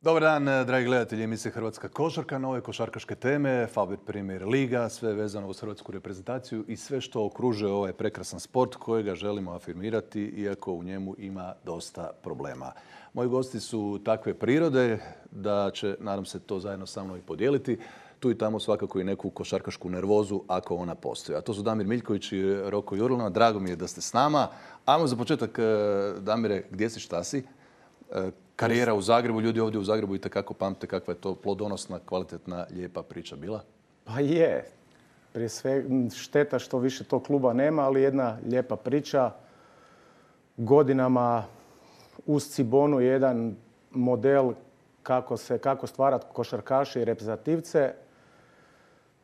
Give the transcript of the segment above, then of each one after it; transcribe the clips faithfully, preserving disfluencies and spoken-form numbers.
Dobar dan, dragi gledatelji emisije Hrvatska košarka, nove košarkaške teme, Fabir Premier Liga, sve vezano uz hrvatsku reprezentaciju i sve što okružuje ovaj prekrasan sport kojega želimo afirmirati, iako u njemu ima dosta problema. Moji gosti su takve prirode da će, nadam se, to zajedno sa mnom i podijeliti. Tu i tamo svakako i neku košarkašku nervozu ako ona postoji. A to su Damir Miljković i Roko Jurlina. Drago mi je da ste s nama. Ajmo za početak, Damire, gdje si, šta si? Karijera u Zagrebu, ljudi ovdje u Zagrebu itekako pamte kakva je to plodonosna, kvalitetna, lijepa priča bila. Pa je. Prije sve šteta što više tog kluba nema, ali jedna lijepa priča. Godinama uz Cibonu jedan model kako se kako stvarati košarkaše i reprezentativce.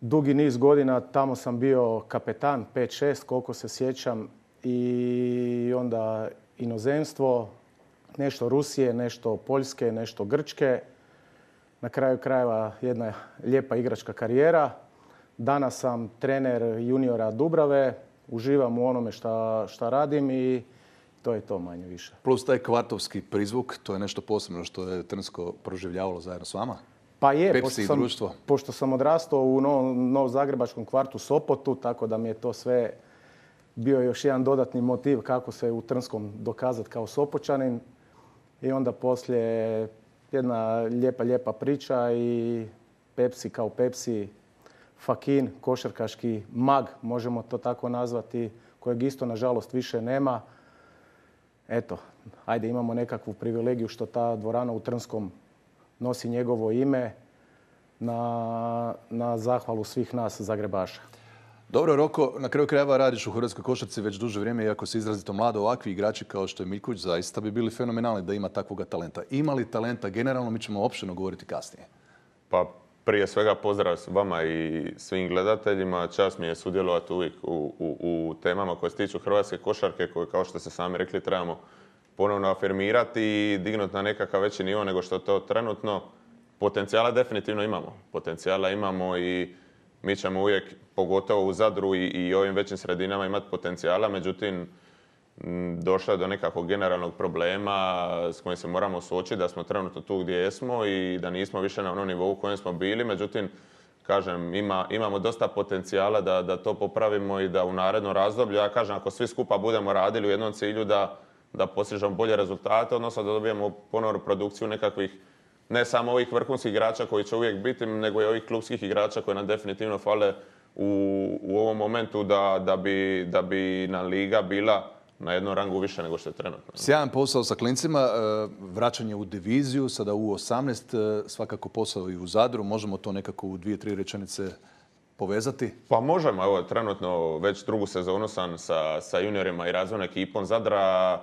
Dugi niz godina tamo sam bio kapetan, pet šest koliko se sjećam, i onda inozemstvo, nešto Rusije, nešto Poljske, nešto Grčke. Na kraju krajeva jedna lijepa igračka karijera. Danas sam trener juniora Dubrave, uživam u onome šta, šta radim i to je to manje više. Plus taj kvartovski prizvuk, to je nešto posebno što je Trnsko proživljavalo zajedno s vama? Pa je, Pepsi pošto i sam, društvo. pošto sam odrastao u novom, novozagrebačkom kvartu Sopotu, tako da mi je to sve bio još jedan dodatni motiv kako se u Trnskom dokazati kao Sopočanin. I onda poslije jedna lijepa, lijepa priča i Pepsi kao Pepsi, Fakin, košarkaški mag, možemo to tako nazvati, kojeg isto nažalost više nema. Eto, ajde, imamo nekakvu privilegiju što ta dvorana u Trnskom nosi njegovo ime na, na zahvalu svih nas Zagrebaša. Dobro, Roko, na kraju krajeva radiš u hrvatskoj košarci već duže vrijeme, iako si izrazito mlado, ovakvi igrači kao što je Miljković zaista bi bili fenomenalni da ima takvoga talenta. Ima li talenta generalno, mi ćemo opširno govoriti kasnije. Pa prije svega pozdrav vama i svim gledateljima. Čast mi je sudjelovati uvijek u, u, u temama koje se tiču hrvatske košarke, koje, kao što ste sami rekli, trebamo ponovno afirmirati i dignuti na nekakav veći nivo nego što to trenutno. Potencijala definitivno imamo. Potencijala imamo i mi ćemo uvijek, pogotovo u Zadru i, i ovim većim sredinama, imati potencijala. Međutim, došlo je do nekakvog generalnog problema s kojim se moramo suočiti, da smo trenutno tu gdje jesmo i da nismo više na onom nivou u kojem smo bili. Međutim, kažem, ima, imamo dosta potencijala da, da to popravimo i da u narednom razdoblju, ja kažem, ako svi skupa budemo radili u jednom cilju da, da postižemo bolje rezultate, odnosno da dobijemo ponovnu produkciju nekakvih, ne samo ovih vrhunskih igrača koji će uvijek biti, nego i ovih klubskih igrača koji nam definitivno fale u, u ovom momentu da, da, bi, da bi nam liga bila na jednom rangu više nego što je trenutno. Sjajan posao sa klincima, vraćanje u diviziju, sada u osamnaest, svakako posao i u Zadru. Možemo to nekako u dvije, tri rečenice povezati? Pa možemo, evo, trenutno već drugu sezonu sam sa, sa juniorima i razvojnom ekipom Zadra.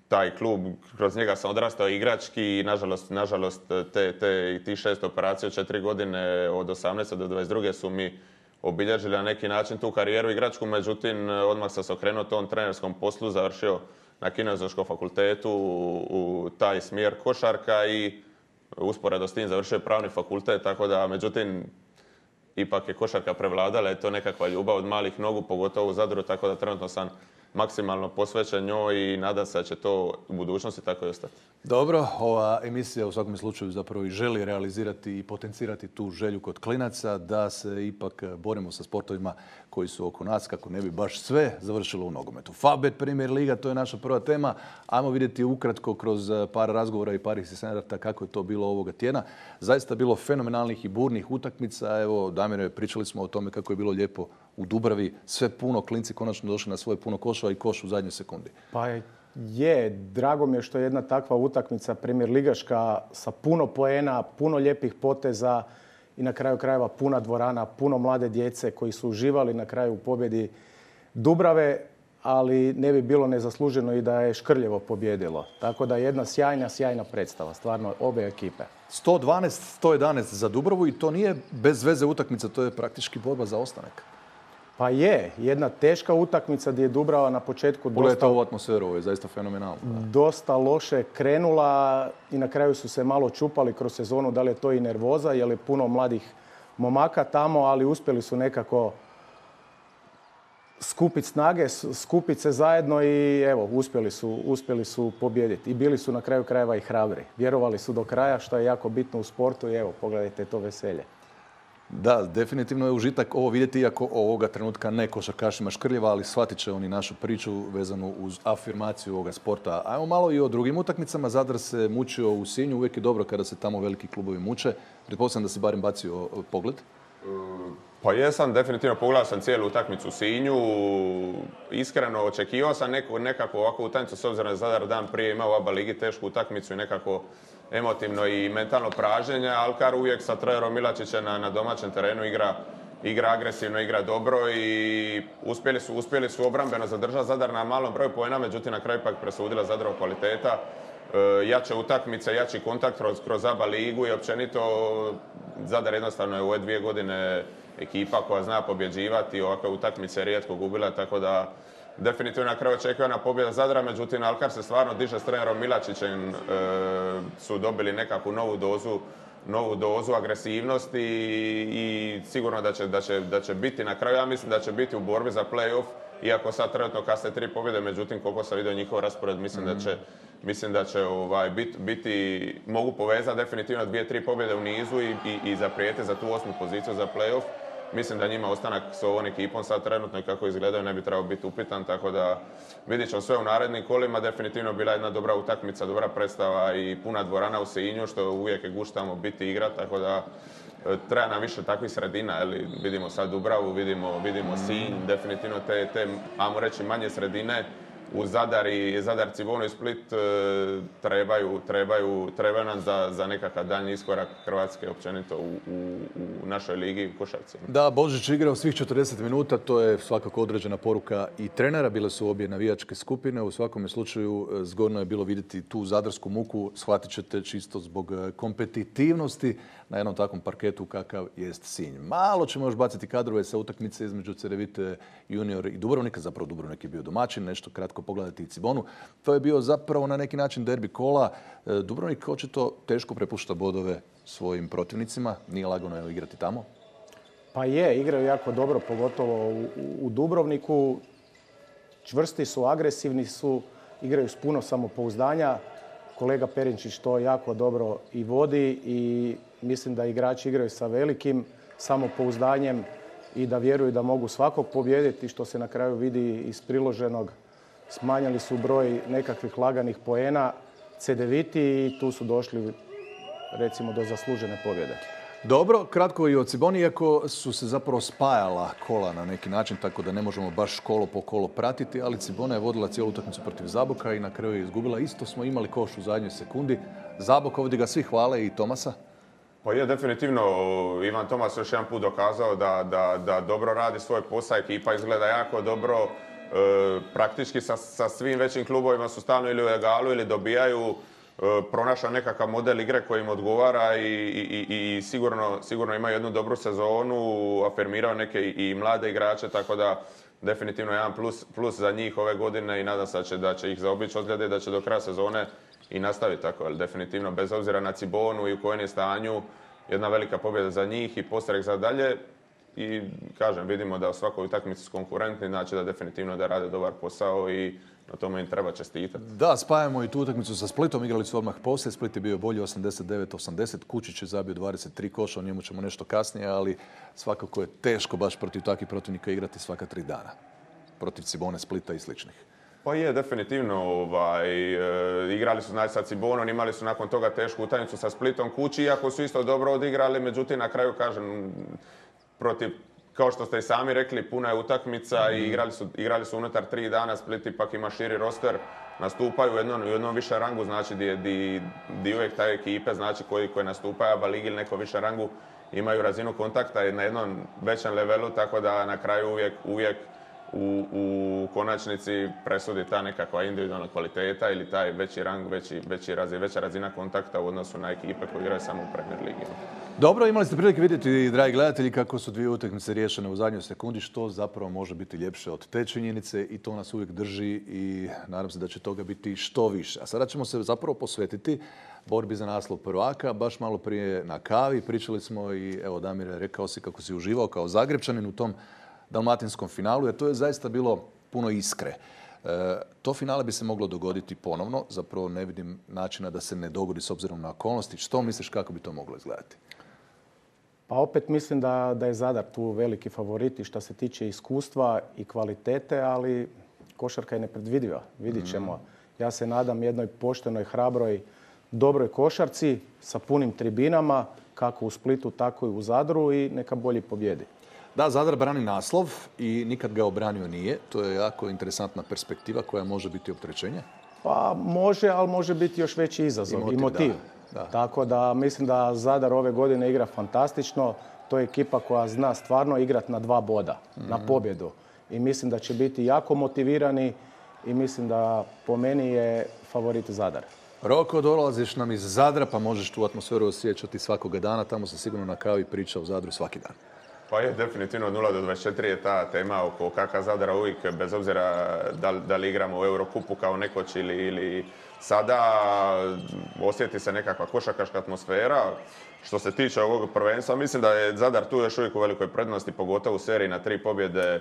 Taj klub, kroz njega sam odrastao igrački i nažalost, nažalost te, te, ti šest operacija, četiri godine od osamnaeste do dvadeset druge su mi obilježili na neki način tu karijeru igračku. Međutim, odmah sam se okrenuo tom trenerskom poslu, završio na Kineziološkom fakultetu u, u taj smjer košarka i usporedo s tim završio pravni fakultet, tako da, međutim, ipak je košarka prevladala, je to nekakva ljubav od malih nogu, pogotovo u Zadru, tako da trenutno sam maksimalno posvećen njoj i nadam se da će to u budućnosti tako i ostati. Dobro, ova emisija u svakom slučaju zapravo i želi realizirati i potencirati tu želju kod klinaca da se ipak borimo sa sportovima koji su oko nas, kako ne bi baš sve završilo u nogometu. Fabir Premier Liga, to je naša prva tema. Ajmo vidjeti ukratko kroz par razgovora i par incidenata kako je to bilo ovoga tjedna. Zaista bilo fenomenalnih i burnih utakmica. Evo, Damire, pričali smo o tome kako je bilo lijepo u Dubravi. Sve puno, klinci konačno došli na svoje puno koševa i koš u zadnjoj sekundi. Pa je, drago mi je što je jedna takva utakmica Premier Ligaška sa puno poena, puno lijepih poteza i na kraju krajeva puna dvorana, puno mlade djece koji su uživali na kraju u pobjedi Dubrave, ali ne bi bilo nezasluženo i da je Škrljevo pobjedilo. Tako da jedna sjajna, sjajna predstava, stvarno, obe ekipe. sto dvanaest sto jedanaest za Dubravu i to nije bez veze utakmica, to je praktički borba za ostanak. Pa je, jedna teška utakmica gdje je Dubrava na početku Pogledajte ovu atmosferu, ovo je zaista fenomenalno. Dosta loše krenula i na kraju su se malo čupali kroz sezonu, da li je to i nervoza, jer je puno mladih momaka tamo, ali uspjeli su nekako skupiti snage, skupiti se zajedno i evo, uspjeli su, uspjeli su pobijediti. I bili su na kraju krajeva i hrabri. Vjerovali su do kraja, što je jako bitno u sportu i evo, pogledajte to veselje. Da, definitivno je užitak ovo vidjeti, iako ovoga trenutka ne košarkašima škrljeva, ali shvatit će oni našu priču vezanu uz afirmaciju ovoga sporta. Ajmo malo i o drugim utakmicama. Zadar se mučio u Sinju, uvijek je dobro kada se tamo veliki klubovi muče. Pretpostavljam da si barem bacio pogled. Pa jesam, definitivno pogledao sam cijelu utakmicu u Sinju. Iskreno očekivao sam neku, nekako ovakvu utakmicu, s obzirom da Zadar dan prije imao u A B A ligi tešku utakmicu i nekako emotivno i mentalno praženje. Alkar uvijek sa trenerom Milačićem na, na domaćem terenu igra, igra agresivno, igra dobro i uspjeli su, uspjeli su obrambeno zadržati Zadar na malom broju poena, međutim na kraju ipak presudila Zadarov kvaliteta. E, jače utakmice, jači kontakt kroz, kroz A B A ligu i općenito Zadar jednostavno je u ove dvije godine ekipa koja zna pobjeđivati, ovakve utakmice rijetko gubila, tako da definitivno na kraju očekivana pobjeda Zadra, međutim Alkar se stvarno diže s trenerom Milačićem, e, su dobili nekakvu novu dozu, novu dozu agresivnosti i, i sigurno da će, da, će, da će biti na kraju, ja mislim da će biti u borbi za play-off, iako sad trenutno kasne tri pobjede, međutim koliko sam vidio njihov raspored, mislim mm-hmm. da će, mislim da će ovaj, bit, biti, mogu povezati definitivno dvije, tri pobjede u nizu i, i, i zaprijeti za tu osmu poziciju za play-off. Mislim da njima ostanak s ovom ekipom sad trenutno i kako izgledaju ne bi trebao biti upitan, tako da vidit ćemo sve u narednim kolima. Definitivno bila jedna dobra utakmica, dobra predstava i puna dvorana u Sinju, što uvijek je gušt tamo biti igra, tako da treba nam više takvih sredina. Ali vidimo sad Dubravu, vidimo, vidimo Sinj, definitivno te, te, ajmo reći, manje sredine u Zadar i Zadar, Cibonu i Split e, trebaju, trebaju, trebaju nam za, za nekakav daljnji iskorak Hrvatske općenito u, u, u našoj ligi u košarci. Da, Božić igrao svih četrdeset minuta, to je svakako određena poruka i trenera. Bile su obje navijačke skupine. U svakom slučaju zgodno je bilo vidjeti tu zadarsku muku. Shvatit ćete čisto zbog kompetitivnosti na jednom takvom parketu kakav jest Sinj. Malo ćemo još baciti kadrove sa utakmice između Cedevite Junior i Dubrovnika. Zapravo Dubrovnik je bio domaćin, nešto kratko pogledati i Cibonu. To je bio zapravo na neki način derbi kola. Dubrovnik očito teško prepušta bodove svojim protivnicima. Nije lagano je igrati tamo. Pa je, igraju jako dobro, pogotovo u, u Dubrovniku. Čvrsti su, agresivni su, igraju s puno samopouzdanja. Kolega Perinčić to jako dobro i vodi i mislim da igrači igraju sa velikim samopouzdanjem i da vjeruju da mogu svakog pobijediti, što se na kraju vidi iz priloženog. Smanjili su broj nekakvih laganih poena Cedeviti i tu su došli recimo do zaslužene pobjede. Dobro, kratko i o Ciboni, iako su se zapravo spajala kola na neki način, tako da ne možemo baš kolo po kolo pratiti, ali Cibona je vodila cijelu utakmicu protiv Zaboka i na kraju je izgubila. Isto smo imali koš u zadnjoj sekundi. Zabok, ovdje ga svi hvale i Tomasa. Pa je definitivno Ivan Tomas još jedan put dokazao da, da, da dobro radi svoj posao, ekipa izgleda jako dobro. E, praktički sa, sa svim većim klubovima su stalno ili u egalu ili dobijaju, e, pronašao nekakav model igre koji im odgovara i, i, i sigurno, sigurno imaju jednu dobru sezonu, afirmirao neke i, i mlade igrače, tako da definitivno jedan plus, plus za njih ove godine i nadam se da će, da će ih zaobići ozljede i da će do kraja sezone i nastaviti tako, ali definitivno bez obzira na Cibonu i u kojem je stanju, jedna velika pobjeda za njih i postrek za dalje. I kažem, vidimo da u svakoj utakmici su konkurentni, znači da definitivno da rade dobar posao i na tome im treba čestitati. Da, spajamo i tu utakmicu sa Splitom, igrali su odmah poslije. Split je bio bolji osamdeset devet osamdeset, Kučić je zabio dvadeset tri koša, o njemu ćemo nešto kasnije, ali svakako je teško baš protiv takvih protivnika igrati svaka tri dana. Protiv Cibone, Splita i sličnih. Pa je, definitivno. Ovaj, e, igrali su znači, sa Cibonom, imali su nakon toga tešku utakmicu sa Splitom kući, iako su isto dobro odigrali, međutim na kraju kažem, protiv, kao što ste i sami rekli, puna je utakmica mm-hmm. i igrali su, igrali su unutar tri dana, Split ipak ima širi roster, nastupaju u jednom, u jednom više rangu, znači di, di, di uvijek taj ekipe, znači koji, koji nastupaju A B A ligi ili neko više rangu, imaju razinu kontakta na jednom većem levelu, tako da na kraju uvijek, uvijek U, u konačnici presudi ta nekakva individualna kvaliteta ili taj veći rang, veći, veći razina, veća razina kontakta u odnosu na ekipe koje igraju samo u Premier ligi. Dobro, imali ste prilike vidjeti, dragi gledatelji, kako su dvije utakmice riješene u zadnjoj sekundi, što zapravo može biti ljepše od te činjenice i to nas uvijek drži i nadam se da će toga biti što više. A sada ćemo se zapravo posvetiti borbi za naslov prvaka. Baš malo prije na kavi pričali smo i evo Damire, rekao si kako si uživao kao Zagrepčanin u tom dalmatinskom finalu, jer to je zaista bilo puno iskre. E, to finale bi se moglo dogoditi ponovno, zapravo ne vidim načina da se ne dogodi s obzirom na okolnosti. Što misliš kako bi to moglo izgledati? Pa opet mislim da, da je Zadar tu veliki favorit i što se tiče iskustva i kvalitete, ali košarka je nepredvidiva. Vidit ćemo. Mm. Ja se nadam jednoj poštenoj, hrabroj, dobroj košarci sa punim tribinama, kako u Splitu, tako i u Zadru i neka bolji pobjedi. Da, Zadar brani naslov i nikad ga obranio nije. To je jako interesantna perspektiva koja može biti opterećenje. Pa može, ali može biti još veći izazov i motiv. I motiv. Da, da. Tako da mislim da Zadar ove godine igra fantastično. To je ekipa koja zna stvarno igrati na dva boda, mm-hmm. na pobjedu. I mislim da će biti jako motivirani i mislim da po meni je favorit Zadar. Roko, dolaziš nam iz Zadra pa možeš tu atmosferu osjećati svakoga dana. Tamo se sigurno na kavi priča u Zadru svaki dan. Pa je, definitivno od nula do dvadeset četiri je ta tema oko kaka Zadra uvijek, bez obzira da, da li igramo u Eurokupu kao nekoć ili, ili sada, osjeti se nekakva košarkaška atmosfera. Što se tiče ovog prvenstva, mislim da je Zadar tu još uvijek u velikoj prednosti, pogotovo u seriji na tri pobjede,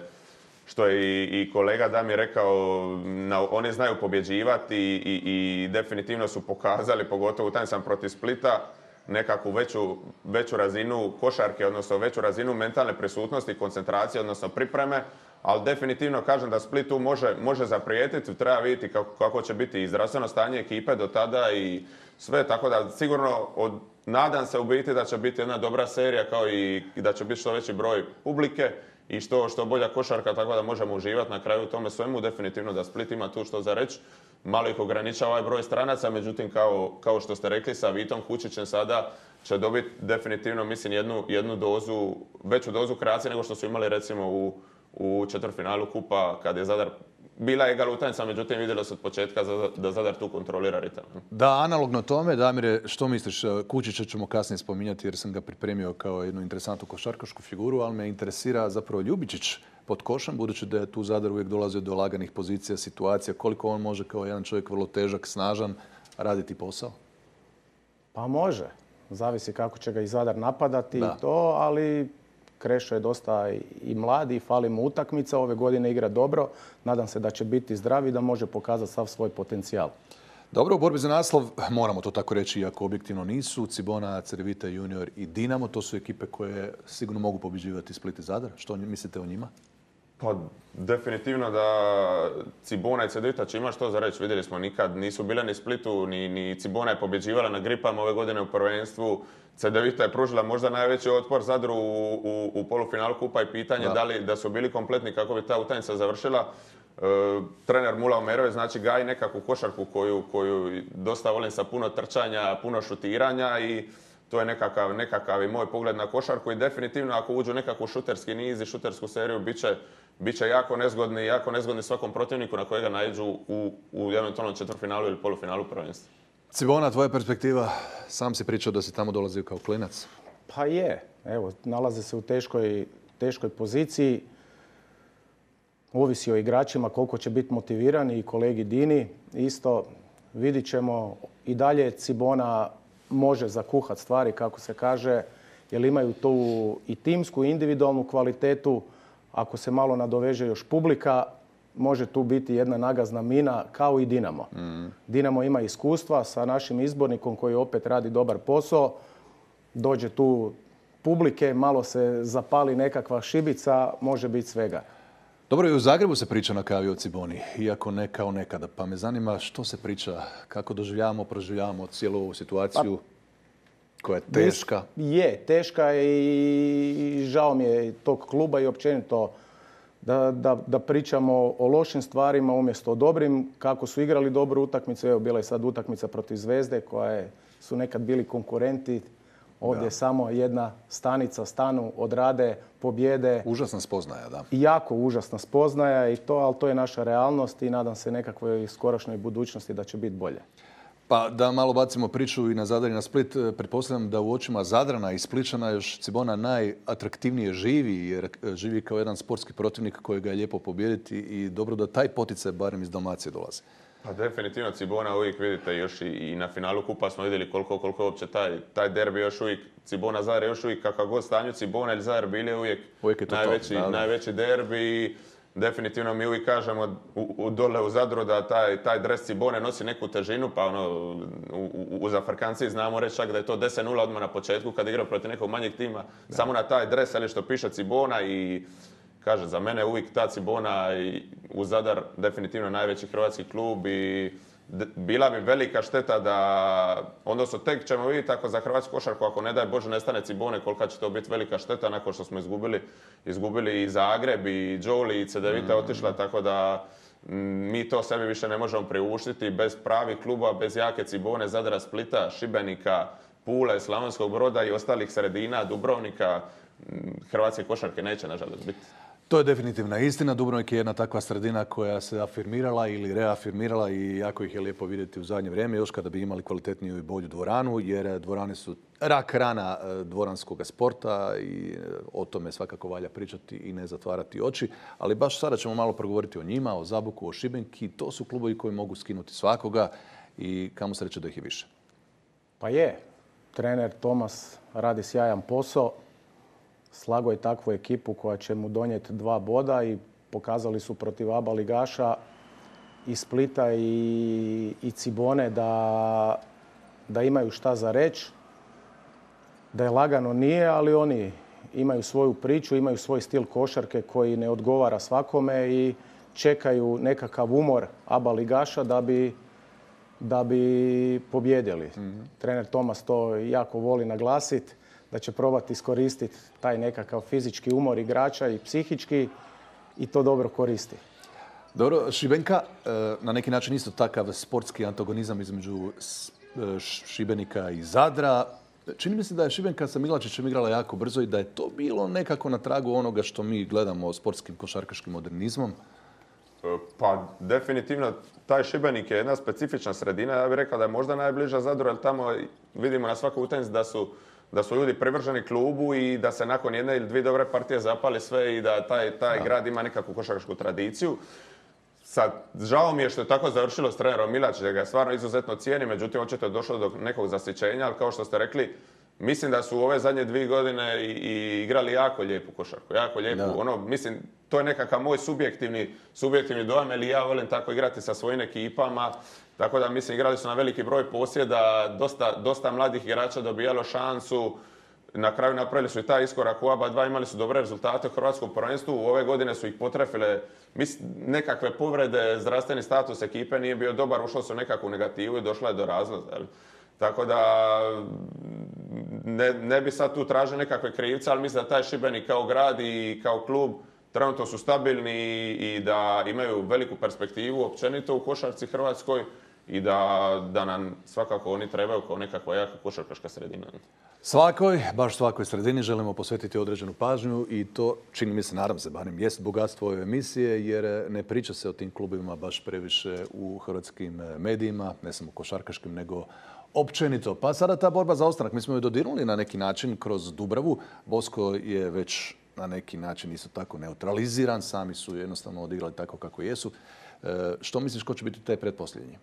što je i, i kolega Damir rekao, na, oni znaju pobjeđivati i, i, i definitivno su pokazali, pogotovo utakmicama protiv Splita, nekakvu veću, veću razinu košarke, odnosno veću razinu mentalne prisutnosti, koncentracije, odnosno pripreme, ali definitivno kažem da Split tu može, može zaprijetiti, treba vidjeti kako, kako će biti i zdravstveno stanje ekipe do tada i sve, tako da sigurno od, nadam se u biti da će biti jedna dobra serija kao i, i da će biti što veći broj publike i što, što bolja košarka, tako da možemo uživati na kraju u tome svemu. Definitivno da Split ima tu što za reći. Malo ih ograničava ovaj broj stranaca, međutim kao, kao što ste rekli sa Vitom Kučićem sada će dobiti definitivno mislim jednu, jednu dozu, veću dozu kreacije nego što su imali recimo u, u četvrtfinalu kupa kad je Zadar bila egal utakmica, međutim vidjelo se od početka da Zadar tu kontrolira ritam. Da, analogno tome, Damire, što misliš? Kučića ćemo kasnije spominjati jer sam ga pripremio kao jednu interesantnu košarkašku figuru, ali me interesira zapravo Ljubičić pod košem, budući da je tu Zadar uvijek dolazio do laganih pozicija, situacija, koliko on može kao jedan čovjek vrlo težak, snažan, raditi posao? Pa može. Zavisi kako će ga i Zadar napadati i to, ali Krešo je dosta i mladi i fali mu utakmica. Ove godine igra dobro. Nadam se da će biti zdrav i da može pokazati sav svoj potencijal. Dobro, u borbi za naslov, moramo to tako reći, iako objektivno nisu, Cibona, Cedevita Junior i Dinamo, to su ekipe koje sigurno mogu pobjeđivati Split i Zadar. Što mislite o njima? Pa definitivno da Cibona i Cedevita će ima što za reći. Vidjeli smo nikad, nisu bile ni Splitu, ni, ni Cibona je pobjeđivala na gripama ove godine u prvenstvu. Cedevita je pružila možda najveći otpor Zadru u, u, u polufinalu kupa i pitanje da. da li da su bili kompletni kako bi ta utakmica završila. E, trener Mula Omerović znači gaji nekakvu košarku koju, koju dosta volim sa puno trčanja, puno šutiranja i to je nekakav, nekakav i moj pogled na košarku i definitivno ako uđu nekakvu šuterski niz i šutersku seriju bit će, bit će jako nezgodni, jako nezgodni svakom protivniku na kojega naiđu u, u eventualnom četvrtfinalu ili polufinalu prvenstva. Cibona, tvoja perspektiva, sam si pričao da si tamo dolazio kao klinac. Pa je, evo, nalaze se u teškoj, teškoj poziciji. Ovisi o igračima koliko će biti motivirani i kolegi Dini. Isto vidit ćemo i dalje Cibona može zakuhati stvari, kako se kaže, jer imaju tu i timsku i individualnu kvalitetu. Ako se malo nadoveže još publika, može tu biti jedna nagazna mina kao i Dinamo. Mm. Dinamo ima iskustva sa našim izbornikom koji opet radi dobar posao. Dođe tu publike, malo se zapali nekakva šibica, može biti svega. Dobro, i u Zagrebu se priča na kavi o Ciboni, iako ne kao nekada. Pa me zanima što se priča, kako doživljavamo, proživljavamo cijelu ovu situaciju pa, koja je teška. Je, teška i žao mi je tog kluba i općenito da, da, da pričamo o lošim stvarima umjesto o dobrim. Kako su igrali dobru utakmicu, evo bila je sad utakmica protiv Zvezde koje su nekad bili konkurenti. Ovdje je samo jedna stanica, stanu, odrade, pobjede. Užasna spoznaja, da. Jako užasna spoznaja, i to, ali to je naša realnost i nadam se nekakvoj skorašnjoj budućnosti da će biti bolje. Pa da malo bacimo priču i na Zadar i na Split, pretpostavljam da u očima Zadrana i Spličana još Cibona najatraktivnije živi, jer živi kao jedan sportski protivnik kojega je lijepo pobijediti i dobro da taj poticaj barem iz Dalmacije dolazi. Pa definitivno Cibona uvijek vidite još i, i na finalu kupa smo vidjeli koliko, koliko je uopće taj, taj derbi još uvijek, Cibona Zadar je još uvijek kakav god stanju Cibona ili Zadar bili uvijek, uvijek je najveći, to, da, da. najveći derbi. Definitivno mi uvijek kažemo u, u dole u Zadru da taj, taj dres Cibone nosi neku težinu, pa ono, u, u, u zafrkanciji znamo reći čak da je to deset nula odmah na početku kad igra protiv nekog manjeg tima, da. Samo na taj dres, ali što piše Cibona i kaže, za mene uvijek ta Cibona i u Zadar definitivno najveći hrvatski klub i bila bi velika šteta da, odnosno tek ćemo vidjeti ako za hrvatsku košarku, ako ne daj Bože nestane Cibone, kolika će to biti velika šteta nakon što smo izgubili, izgubili i Zagreb i Đoli i Cedevita mm. otišla, tako da m, mi to sebi više ne možemo priuštiti bez pravih kluba, bez jake Cibone, Zadra, Splita, Šibenika, Pule, Slavonskog Broda i ostalih sredina, Dubrovnika, m, hrvatske košarke neće nažalost biti. To je definitivna istina. Dubrovnik je jedna takva sredina koja se afirmirala ili reafirmirala i jako ih je lijepo vidjeti u zadnje vrijeme, još kada bi imali kvalitetniju i bolju dvoranu, jer dvorane su rak rana dvoranskog sporta i o tome svakako valja pričati i ne zatvarati oči. Ali baš sada ćemo malo progovoriti o njima, o Zaboku, o Šibenki. To su klubovi koji mogu skinuti svakoga i kamo sreće da ih je više. Pa je. Trener Tomas radi sjajan posao. Slago je takvu ekipu koja će mu donijeti dva boda i pokazali su protiv aba ligaša i Splita i, i Cibone da, da imaju šta za reći. Da je lagano nije, ali oni imaju svoju priču, imaju svoj stil košarke koji ne odgovara svakome i čekaju nekakav umor aba ligaša da bi, da bi pobjedili. Mm-hmm. Trener Tomas to jako voli naglasiti, da će probati iskoristiti taj nekakav fizički umor igrača i psihički i to dobro koristi. Dobro, Šibenka, na neki način isto takav sportski antagonizam između Šibenika i Zadra. Čini mi se da je Šibenka sa Milačićem igrala jako brzo i da je to bilo nekako na tragu onoga što mi gledamo sportskim košarkaškim modernizmom. Pa definitivno taj Šibenik je jedna specifična sredina. Ja bih rekao da je možda najbliža Zadru, jer tamo vidimo na svakoj utakmici da su da su ljudi privrženi klubu i da se nakon jedne ili dvije dobre partije zapali sve i da taj, taj grad ima nekakvu košarkašku tradiciju. Sad, žao mi je što je tako završilo s trenerom Milačić, da ga stvarno izuzetno cijeni, međutim očito je došlo do nekog zasićenja, ali kao što ste rekli, mislim da su u ove zadnje dvije godine i, i igrali jako lijepu košarku, jako lijepu. Da. Ono, mislim, to je nekakav moj subjektivni, subjektivni dojam, jer ja volim tako igrati sa svojim ekipama. Tako da, mislim, igrali su na veliki broj posjeda, dosta, dosta mladih igrača dobijalo šansu. Na kraju napravili su i taj iskorak u aba dva, imali su dobre rezultate u hrvatskom prvenstvu. U ove godine su ih potrefile nekakve povrede, zdravstveni status ekipe nije bio dobar, ušlo su u nekakvu negativu i došla je do razlaza. Tako da ne, ne bi sad tu tražio nekakve krivce, ali mislim da taj Šibenik kao grad i kao klub trenutno su stabilni i da imaju veliku perspektivu općenito u košarci hrvatskoj i da, da nam svakako oni trebaju kao nekakva jaka košarkaška sredina. Svakoj, baš svakoj sredini želimo posvetiti određenu pažnju i to, čini mi se, nadam se, barem jest bogatstvo ove emisije, jer ne priča se o tim klubima baš previše u hrvatskim medijima, ne samo košarkaškim, nego općenito. Pa sada ta borba za ostanak, mi smo ju dodirnuli na neki način kroz Dubravu. Bosko je već na neki način isto tako neutraliziran, sami su jednostavno odigrali tako kako jesu. E, što misliš ko će biti te pretposljednji?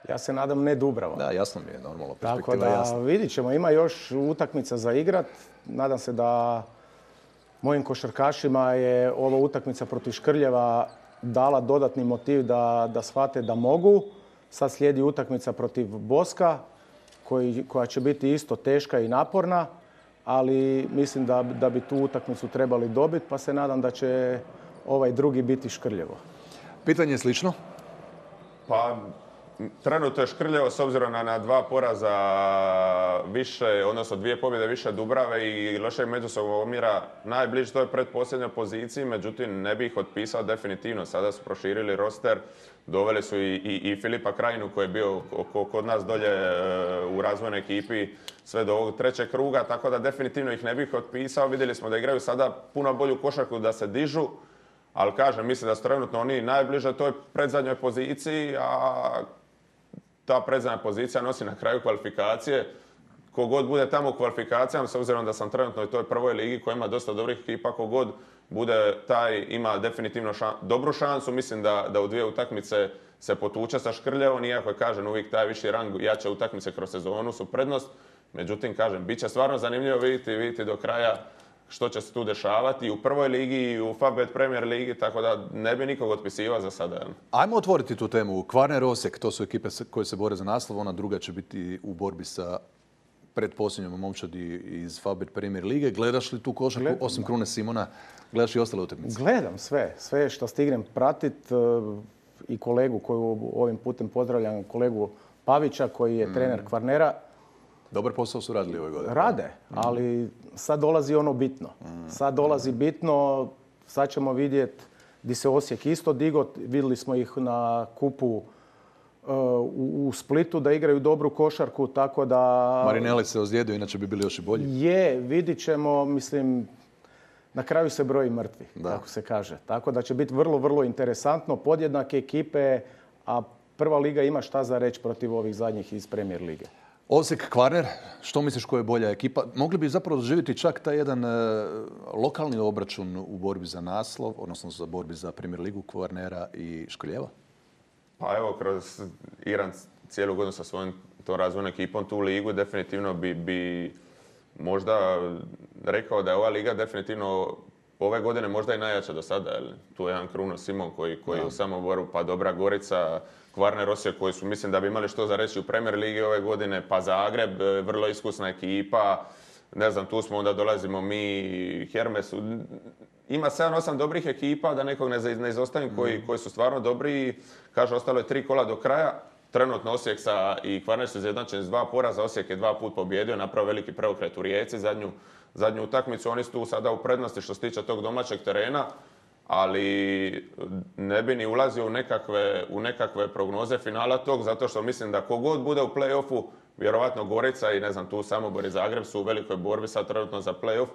Ja se nadam ne Dubrava. Da, jasno mi je, normalno, perspektiva tako da, jasna. Vidit ćemo, ima još utakmica za igrat. Nadam se da mojim košarkašima je ova utakmica protiv Škrljeva dala dodatni motiv da, da shvate da mogu. Sad slijedi utakmica protiv Boska, koji, koja će biti isto teška i naporna, ali mislim da, da bi tu utakmicu trebali dobiti, pa se nadam da će ovaj drugi biti Škrljevo. Pitanje je slično? Pa, trenutno je Škrljevo s obzirom na, na dva poraza više, odnosno dvije pobjede više Dubrave i lošeg međusobnog omjera najbliže toj predposljednjoj poziciji, međutim ne bi ih otpisao definitivno. Sada su proširili roster, doveli su i, i, i Filipa Krajinu koji je bio kod nas dolje u razvojnoj ekipi sve do ovog trećeg kruga, tako da definitivno ih ne bih otpisao. Vidjeli smo da igraju sada puno bolju košarku, da se dižu, ali kažem, mislim da su trenutno oni najbliže toj predzadnjoj poziciji, a ta predzadnja pozicija nosi na kraju kvalifikacije. Kogod bude tamo u kvalifikacijama, s obzirom da sam trenutno u toj prvoj ligi koja ima dosta dobrih ekipa, kogod bude taj ima definitivno šan, dobru šansu. Mislim da, da u dvije utakmice se potuče sa Škrljevom, iako je, kažem, uvijek taj viši rang, jače utakmice kroz sezonu su prednost. Međutim, kažem, bit će stvarno zanimljivo vidjeti, vidjeti do kraja što će se tu dešavati i u prvoj ligi i u Favbet Premier ligi, tako da ne bi nikog otpisivao za sada. Ajmo otvoriti tu temu. Kvarner, Osijek, to su ekipe koje se bore za naslov, ona druga će biti u borbi sa predposljednjom momčadi iz Favbet Premier lige. Gledaš li tu košarku, Gledam, osim da. Krune Simona, gledaš i ostale utakmice? Gledam sve, sve što stignem pratit i kolegu koju ovim putem pozdravljam, kolegu Pavića koji je mm. trener Kvarnera. Dobar posao su radili ove godine. Rade, ali sad dolazi ono bitno. Sad dolazi bitno, sad ćemo vidjeti gdje se Osijek isto digo. Vidjeli smo ih na kupu uh, u, u Splitu da igraju dobru košarku, tako da... Marinelli se ozlijedio, inače bi bili još i bolji. Je, vidit ćemo, mislim, na kraju se broji mrtvi, Da. kako se kaže. Tako da će biti vrlo, vrlo interesantno. Podjednake ekipe, a prva liga ima šta za reći protiv ovih zadnjih iz Premier lige. Osijek, Kvarner, što misliš koja je bolja ekipa? Mogli bi zapravo doživjeti čak taj jedan e, lokalni obračun u borbi za naslov, odnosno za borbi za Premier ligu Kvarnera i Škrljeva? Pa evo, kroz Iran cijelu godinu sa svojom tom razvojnom ekipom tu ligu, definitivno bi, bi možda rekao da je ova liga definitivno ove godine možda i najjača do sada. Jel? Tu je jedan Kruno Simon koji, koji je u samoboru, pa Dobra Gorica, Kvarner, Osijek koji su, mislim da bi imali što za reći u Premier ligi ove godine, pa Zagreb, vrlo iskusna ekipa. Ne znam, tu smo, onda dolazimo mi, Hermes. Ima sedam osam dobrih ekipa, da nekog ne, ne izostavim, koji, koji su stvarno dobri. Kaže, ostalo je tri kola do kraja. Trenutno Osijek sa i Kvarner su izjednačeni s dva poraza. Osijek je dva put pobjedio, napravio veliki preokret u Rijeci, zadnju, zadnju utakmicu. Oni su tu sada u prednosti što se tiče tog domaćeg terena, ali ne bi ni ulazio u nekakve, u nekakve prognoze finala tog, zato što mislim da kogod bude u play-offu, vjerovatno Gorica i ne znam, tu Samobor i Zagreb su u velikoj borbi sad trenutno za play-off.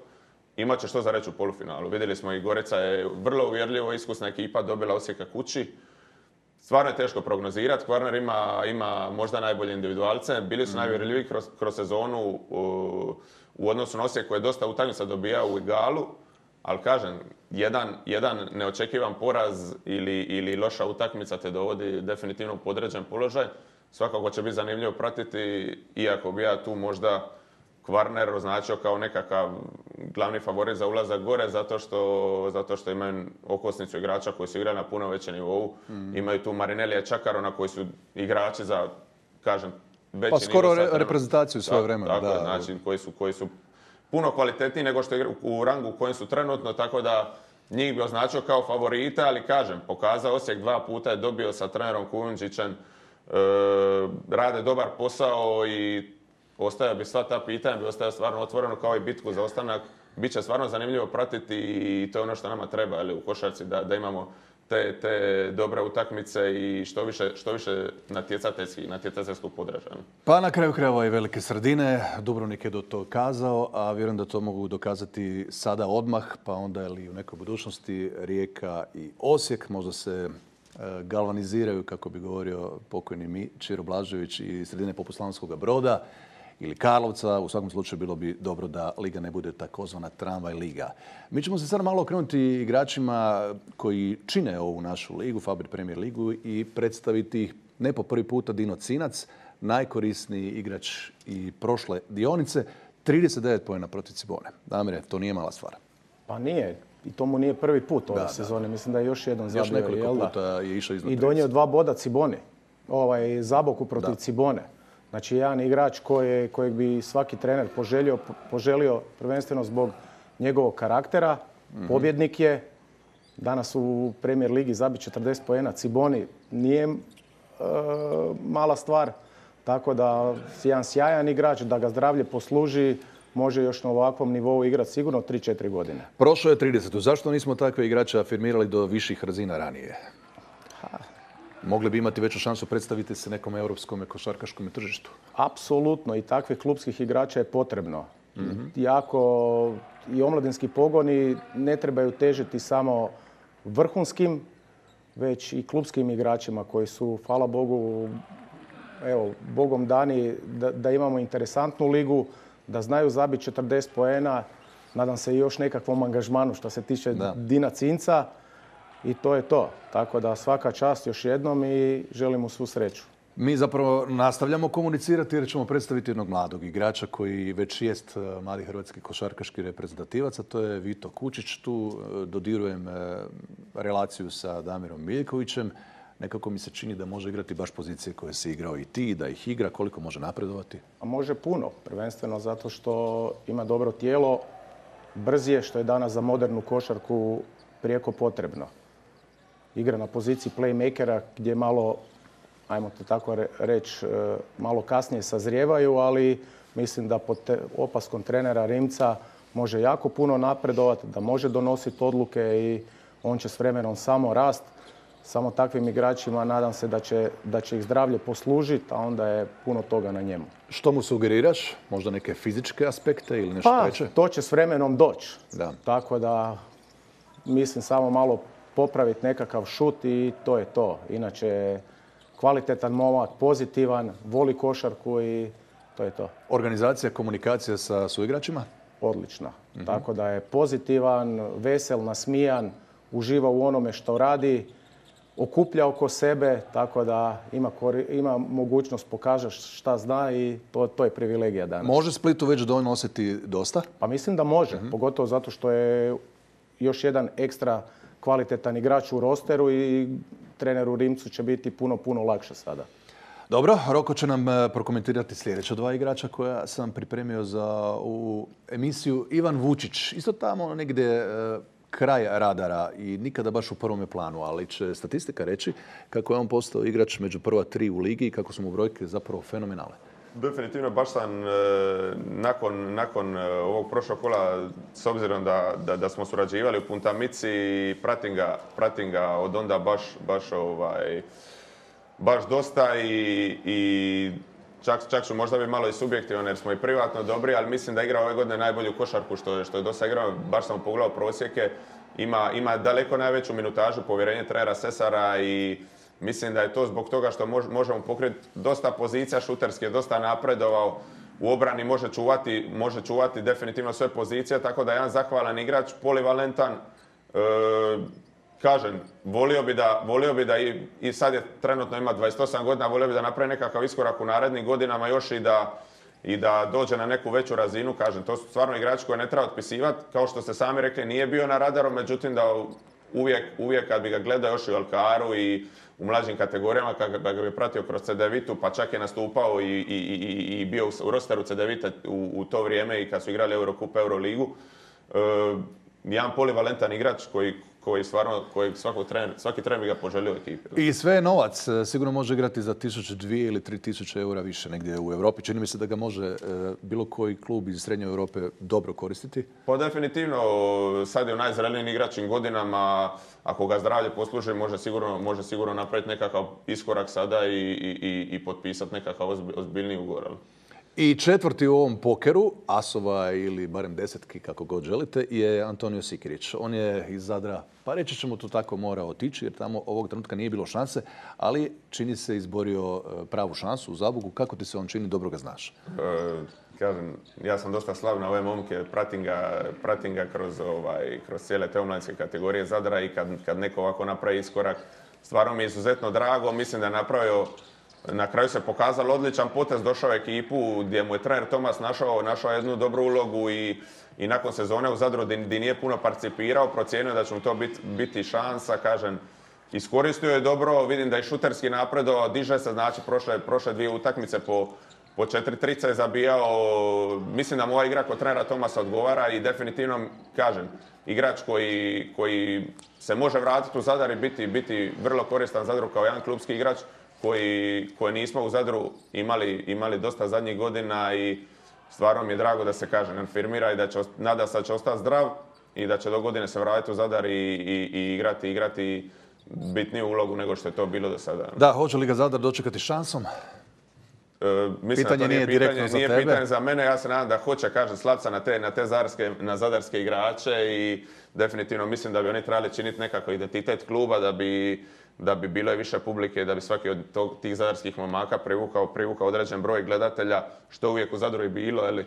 Imat će što za reći u polufinalu. Vidjeli smo i Gorica je vrlo uvjerljivo iskusna ekipa, dobila Osijeka kući. Stvarno je teško prognozirati. Kvarner ima, ima možda najbolje individualce. Bili su mm. najuvjerljiviji kroz, kroz sezonu u, u odnosu na Osijek koji je dosta utakmica dobijao u Igalu. Ali kažem, jedan, jedan neočekivan poraz ili, ili loša utakmica te dovodi definitivno u podređen položaj. Svakako će biti zanimljivo pratiti, iako bi ja tu možda Kvarner označio kao nekakav glavni favorit za ulazak gore, zato što, zato što imaju okosnicu igrača koji su igrali na puno većem nivou. Mm. Imaju tu Marinellija i Čakarona koji su igrači za, kažem, veći pa skoro nivo. Skoro re, reprezentaciju svoje vremena. Tako, da. Znači, koji su, koji su puno kvalitetniji nego što je u rangu u kojem su trenutno, tako da njih bi označio kao favorita, ali kažem, pokazao Osijek dva puta je dobio sa trenerom Kujundžićem, e, rade dobar posao i ostaje bi sva ta pitanja, bi ostaje stvarno otvoreno kao i bitku za ostanak. Biće stvarno zanimljivo pratiti i to je ono što nama treba, ali u košarci da, da imamo te, te dobre utakmice i što više, što više natjecateljskih, natjecateljskog podražaja. Pa na kraju krajeva i velike sredine. Dubrovnik je do to kazao, a vjerujem da to mogu dokazati sada odmah, pa onda ili u nekoj budućnosti Rijeka i Osijek možda se galvaniziraju, kako bi govorio pokojni Čiro Blažević, i sredine poput Slavonskog Broda ili Karlovca. U svakom slučaju bilo bi dobro da liga ne bude takozvana tramvaj liga. Mi ćemo se sad malo okrenuti igračima koji čine ovu našu ligu, Favbet Premier ligu, i predstaviti ih ne po prvi puta. Dino Cinac, najkorisniji igrač i prošle dionice, trideset devet poena protiv Cibone. Damire, to nije mala stvar. Pa nije. I to mu nije prvi put ove da, sezone. Da. Mislim da je još jedan zabio. Još nekoliko puta je išao iznad i donio dva boda Ciboni. Ovaj, Zaboku protiv da. Cibone. Znači, jedan igrač koje, kojeg bi svaki trener poželio, poželio prvenstveno zbog njegovog karaktera. Mm-hmm. Pobjednik je. Danas u Premier ligi zabiti četrdeset poena Ciboni nije e, mala stvar. Tako da jedan sjajan igrač, da ga zdravlje posluži, može još na ovakvom nivou igrati sigurno tri četiri godine. Prošlo je trideset. Zašto nismo takve igrače afirmirali do viših razina ranije? Ha. Mogli bi imati veću šansu predstaviti se nekom europskom košarkaškom tržištu. Apsolutno. I takvih klubskih igrača je potrebno. Mm-hmm. Jako i omladinski pogoni ne trebaju težiti samo vrhunskim, već i klubskim igračima koji su, hvala Bogu, evo, bogom dani da, da imamo interesantnu ligu, da znaju zabiti četrdeset poena, nadam se i još nekakvom angažmanu što se tiče da. Dina Cinca i to je to. Tako da svaka čast još jednom i želim mu svu sreću. Mi zapravo nastavljamo komunicirati jer ćemo predstaviti jednog mladog igrača koji već jest mladi hrvatski košarkaški reprezentativac, a to je Vito Kučić. Tu dodirujem relaciju sa Damirom Miljkovićem. Nekako mi se čini da može igrati baš pozicije koje si igrao i ti, da ih igra, koliko može napredovati? A može puno, prvenstveno zato što ima dobro tijelo, brz je, što je danas za modernu košarku prijeko potrebno. Igra na poziciji playmakera gdje malo, ajmo to tako reći, malo kasnije sazrijevaju, ali mislim da pod opaskom trenera Rimca može jako puno napredovati, da može donositi odluke i on će s vremenom samo rast. Samo takvim igračima nadam se da će, da će ih zdravlje poslužiti, a onda je puno toga na njemu. Što mu sugeriraš? Možda neke fizičke aspekte ili nešto pa, veće? To će s vremenom doći. Da. Tako da mislim samo malo popraviti nekakav šut i to je to. Inače, kvalitetan momak, pozitivan, voli košarku i to je to. Organizacija, komunikacija sa suigračima? Odlična. Mm-hmm. Tako da je pozitivan, vesel, nasmijan, uživa u onome što radi, okuplja oko sebe, tako da ima, ima mogućnost pokaže šta zna i to, to je privilegija danas. Može Splitu već donositi dosta? Pa mislim da može, mm-hmm. pogotovo zato što je još jedan ekstra kvalitetan igrač u rosteru i treneru Rimcu će biti puno, puno lakše sada. Dobro, Roko će nam prokomentirati sljedeća dva igrača koja sam pripremio za ovu emisiju. Ivan Vučić, isto tamo negdje kraj radara i nikada baš u prvome planu, ali će statistika reći kako je on postao igrač među prva tri u ligi i kako su mu brojke zapravo fenomenalne. Definitivno, baš sam e, nakon, nakon ovog prošlog kola, s obzirom da, da, da smo surađivali u Puntamici, pratim ga, pratim ga od onda baš, baš, ovaj, baš dosta i, i čak, čak ću možda bi malo i subjektivan jer smo i privatno dobri, ali mislim da igra ove godine najbolju košarku što je, što je dosta igrao. Baš sam pogledao prosjeke, ima, ima daleko najveću minutažu, povjerenje trenera Sesara i mislim da je to zbog toga što mož, možemo pokriti dosta pozicija šuterski, je dosta napredovao. U obrani može čuvati, može čuvati definitivno sve pozicije, tako da je jedan zahvalan igrač, polivalentan. E, kažem, volio bi da, volio bi da i, i sad je trenutno ima dvadeset osam godina, volio bi da napravi nekakav iskorak u narednim godinama još i da, i da dođe na neku veću razinu. Kažem, to su stvarno igrači koje ne treba otpisivati. Kao što ste sami rekli, nije bio na radaru, međutim da uvijek, uvijek kad bi ga gledao još i u Alkaru i u mlađim kategorijama, kad ga bi pratio kroz C D Vitu, pa čak je nastupao i, i, i, i bio u rosteru C D Vita u, u to vrijeme i kad su igrali Eurocup, Euroligu. E, jedan polivalentan igrač koji, koji stvarno, koji svaki trener, svaki trener bi ga poželio ekipi. I sve je novac. Sigurno može igrati za tisuću, dvije ili tri tisuće eura više negdje u Europi. Čini mi se da ga može e, bilo koji klub iz Srednje Europe dobro koristiti. Pa definitivno, sad je u najzrelenijim igračim godinama. Ako ga zdravlje posluži, može sigurno, može sigurno napraviti nekakav iskorak sada i, i, i, i potpisati nekakav ozbiljniji ugovor. I četvrti u ovom pokeru, asova ili barem desetki, kako god želite, je Antonio Sikirić. On je iz Zadra, pa reći ćemo to tako, mora otići jer tamo ovog trenutka nije bilo šanse, ali čini se izborio pravu šansu u Zabogu. Kako ti se on čini, dobro ga znaš? E, kažem, ja sam dosta slav na ove momke, pratim ga, pratim ga kroz, ovaj, kroz cijele te omladinske kategorije Zadra i kad, kad neko ovako napravi iskorak, stvarno mi je izuzetno drago. Mislim da je napravio, na kraju se pokazalo odličan potez, došao u ekipu gdje mu je trener Tomas našao, našao jednu dobru ulogu i, i nakon sezone u Zadru gdje nije puno participirao, procijenio da će mu to biti, biti šansa, kažem, iskoristio je dobro, vidim da je šuterski napredovao, diže se, znači prošle, prošle dvije utakmice po, po četiri trice je zabijao, mislim da mu ova igra kod trenera Tomasa odgovara i definitivno, kažem, igrač koji, koji se može vratiti u Zadar i biti, biti vrlo koristan Zadru kao jedan klubski igrač, koji, koji nismo u Zadru imali, imali dosta zadnjih godina i stvarno mi je drago da se kaže afirmira i da će, nada se da će ostati zdrav i da će do godine se vratiti u Zadar i, i, i igrati, igrati bitniju ulogu nego što je to bilo do sada. Da, hoće li ga Zadar dočekati šansom? E, mislim pitanje da to nije, nije pitanje, za nije tebe. pitanje za mene, ja se nadam da hoće, kažem, slati se na te, na te zadarske, na zadarske igrače i definitivno mislim da bi oni trebali činiti nekakav identitet kluba, da bi, da bi bilo i više publike, da bi svaki od tog, tih zadarskih momaka privukao, privukao određen broj gledatelja, što uvijek u Zadru i bilo, ili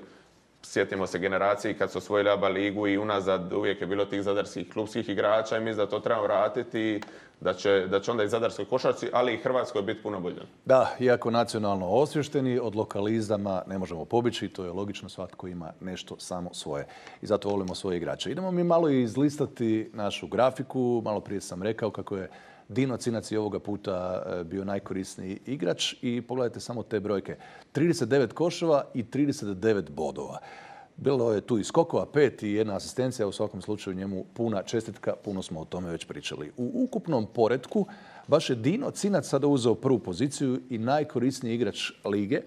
sjetimo se generaciji kad su osvojili A B A ligu i unazad uvijek je bilo tih zadarskih klubskih igrača i mislim da to trebamo vratiti i da će, da će onda i zadarskoj košarci, ali i Hrvatskoj biti puno bolje. Da, iako nacionalno osvješteni, od lokalizama ne možemo pobjeći, to je logično, svatko ima nešto samo svoje. I zato volimo svoje igrače. Idemo mi malo izlistati našu grafiku. Malo prije sam rekao kako je Dino Cinac i ovoga puta bio najkorisniji igrač i pogledajte samo te brojke. trideset devet koševa i trideset devet bodova. Bilo je tu i skokova, pet i jedna asistencija, u svakom slučaju njemu puna čestitka, puno smo o tome već pričali. U ukupnom poretku baš je Dino Cinac sada uzeo prvu poziciju i najkorisniji igrač lige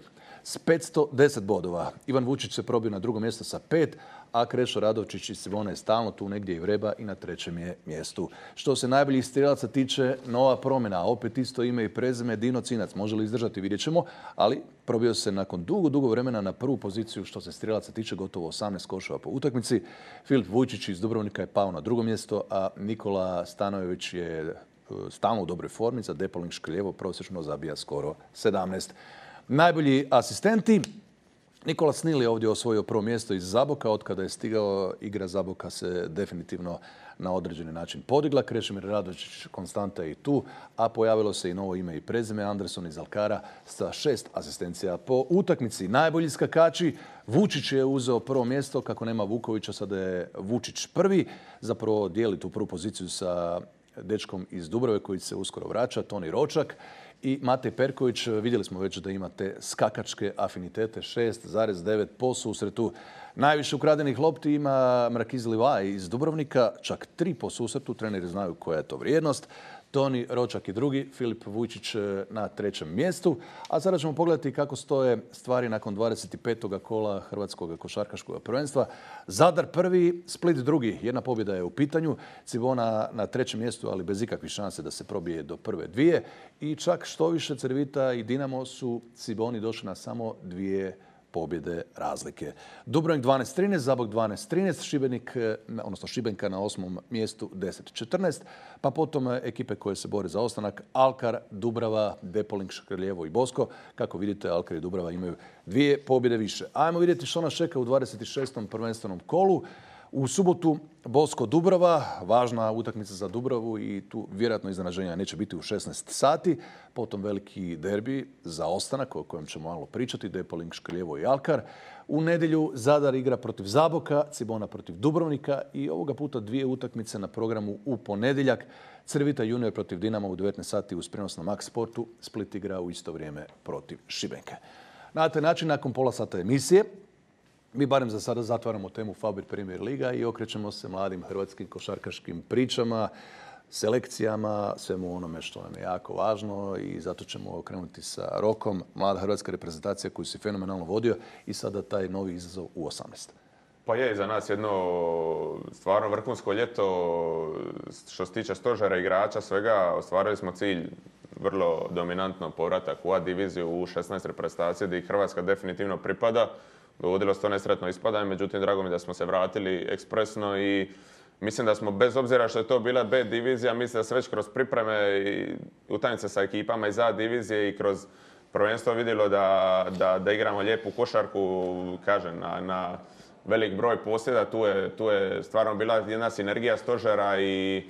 s petsto deset bodova. Ivan Vučić se probio na drugo mjesto sa pet, a Krešo Radovčić i Simona je stalno tu negdje i vreba i na trećem je mjestu. Što se najboljih strijelaca tiče, nova promjena, opet isto ime i prezime Dino Cinac. Može li izdržati, vidjet ćemo, ali probio se nakon dugo, dugo vremena na prvu poziciju što se strijelaca tiče, gotovo osamnaest koševa po utakmici. Filip Vujčić iz Dubrovnika je pao na drugo mjesto, a Nikola Stanojević je stalno u dobroj formi, za Depoling Škrljevo prosječno zabija skoro sedamnaest. Najbolji asistenti. Nikola Snil je ovdje osvojio prvo mjesto iz Zaboka. Od kada je stigao, igra Zaboka se definitivno na određeni način podigla. Krešimir Radočić konstanta je i tu, a pojavilo se i novo ime i prezime, Anderson iz Alkara sa šest asistencija po utakmici. Najbolji skakači, Vučić je uzeo prvo mjesto, kako nema Vukovića, sada je Vučić prvi. Zapravo dijeli tu prvu poziciju sa dečkom iz Dubrave koji se uskoro vraća, Toni Ročak. I Matej Perković, vidjeli smo već da ima te skakačke afinitete, šest zarez devet po susretu. Najviše ukradenih lopti ima Mrakiz Livaj iz Dubrovnika, čak tri po susretu, treneri znaju koja je to vrijednost. Toni Ročak i drugi, Filip Vujčić na trećem mjestu. A sada ćemo pogledati kako stoje stvari nakon dvadeset petog kola Hrvatskog košarkaškog prvenstva. Zadar prvi, Split drugi. Jedna pobjeda je u pitanju. Cibona na trećem mjestu, ali bez ikakvih šanse da se probije do prve dvije. I čak što više Cervita i Dinamo su Ciboni došli na samo dvije pobjede razlike. Dubrovnik dvanaest trinaest, Zabok dvanaest trinaest, Šibenik, odnosno Šibenka na osmom mjestu deset četrnaest, pa potom ekipe koje se bore za ostanak, Alkar, Dubrava, Depoling, Škrljevo i Bosko. Kako vidite, Alkar i Dubrava imaju dvije pobjede više. Ajmo vidjeti što nas čeka u dvadeset šestom prvenstvenom kolu. U subotu Bosko Dubrava, važna utakmica za Dubravu i tu vjerojatno iznenađenja neće biti u šesnaest sati. Potom veliki derbi za ostanak o kojem ćemo malo pričati, Depoling, Škrljevo i Alkar. U nedjelju Zadar igra protiv Zaboka, Cibona protiv Dubrovnika i ovoga puta dvije utakmice na programu u ponedjeljak. Cervita junior protiv Dinama u devetnaest sati uz prijenos na Max Sportu. Split igra u isto vrijeme protiv Šibenke. Na taj način, nakon pola sata emisije, mi barem za sada zatvaramo temu Fabir Premier Liga i okrećemo se mladim hrvatskim košarkaškim pričama, selekcijama, svemu onome što nam je jako važno i zato ćemo krenuti sa Rokom, mlada hrvatska reprezentacija koju si fenomenalno vodio i sada taj novi izazov u osamnaest. Pa je za nas jedno stvarno vrhunsko ljeto što se tiče stožera igrača, svega ostvarili smo cilj vrlo dominantno povratak u A diviziju u šesnaest reprezentacije gdje Hrvatska definitivno pripada. Dovodilo se to nesretno ispadanje, međutim drago mi da smo se vratili ekspresno i mislim da smo, bez obzira što je to bila B divizija, mislim da se već kroz pripreme i utakmice sa ekipama iz A divizije i kroz prvenstvo vidjelo da, da, da igramo lijepu košarku, kažem, na, na velik broj posjeda. Tu je, tu je stvarno bila jedna sinergija stožera i,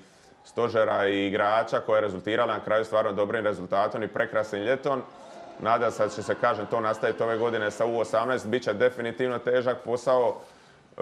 stožera i igrača koja je rezultirala na kraju stvarno dobrim rezultatom i prekrasnim ljetom. Nadam se da će se, kažem, to nastaviti ove godine sa U osamnaest. Biće definitivno težak posao. E,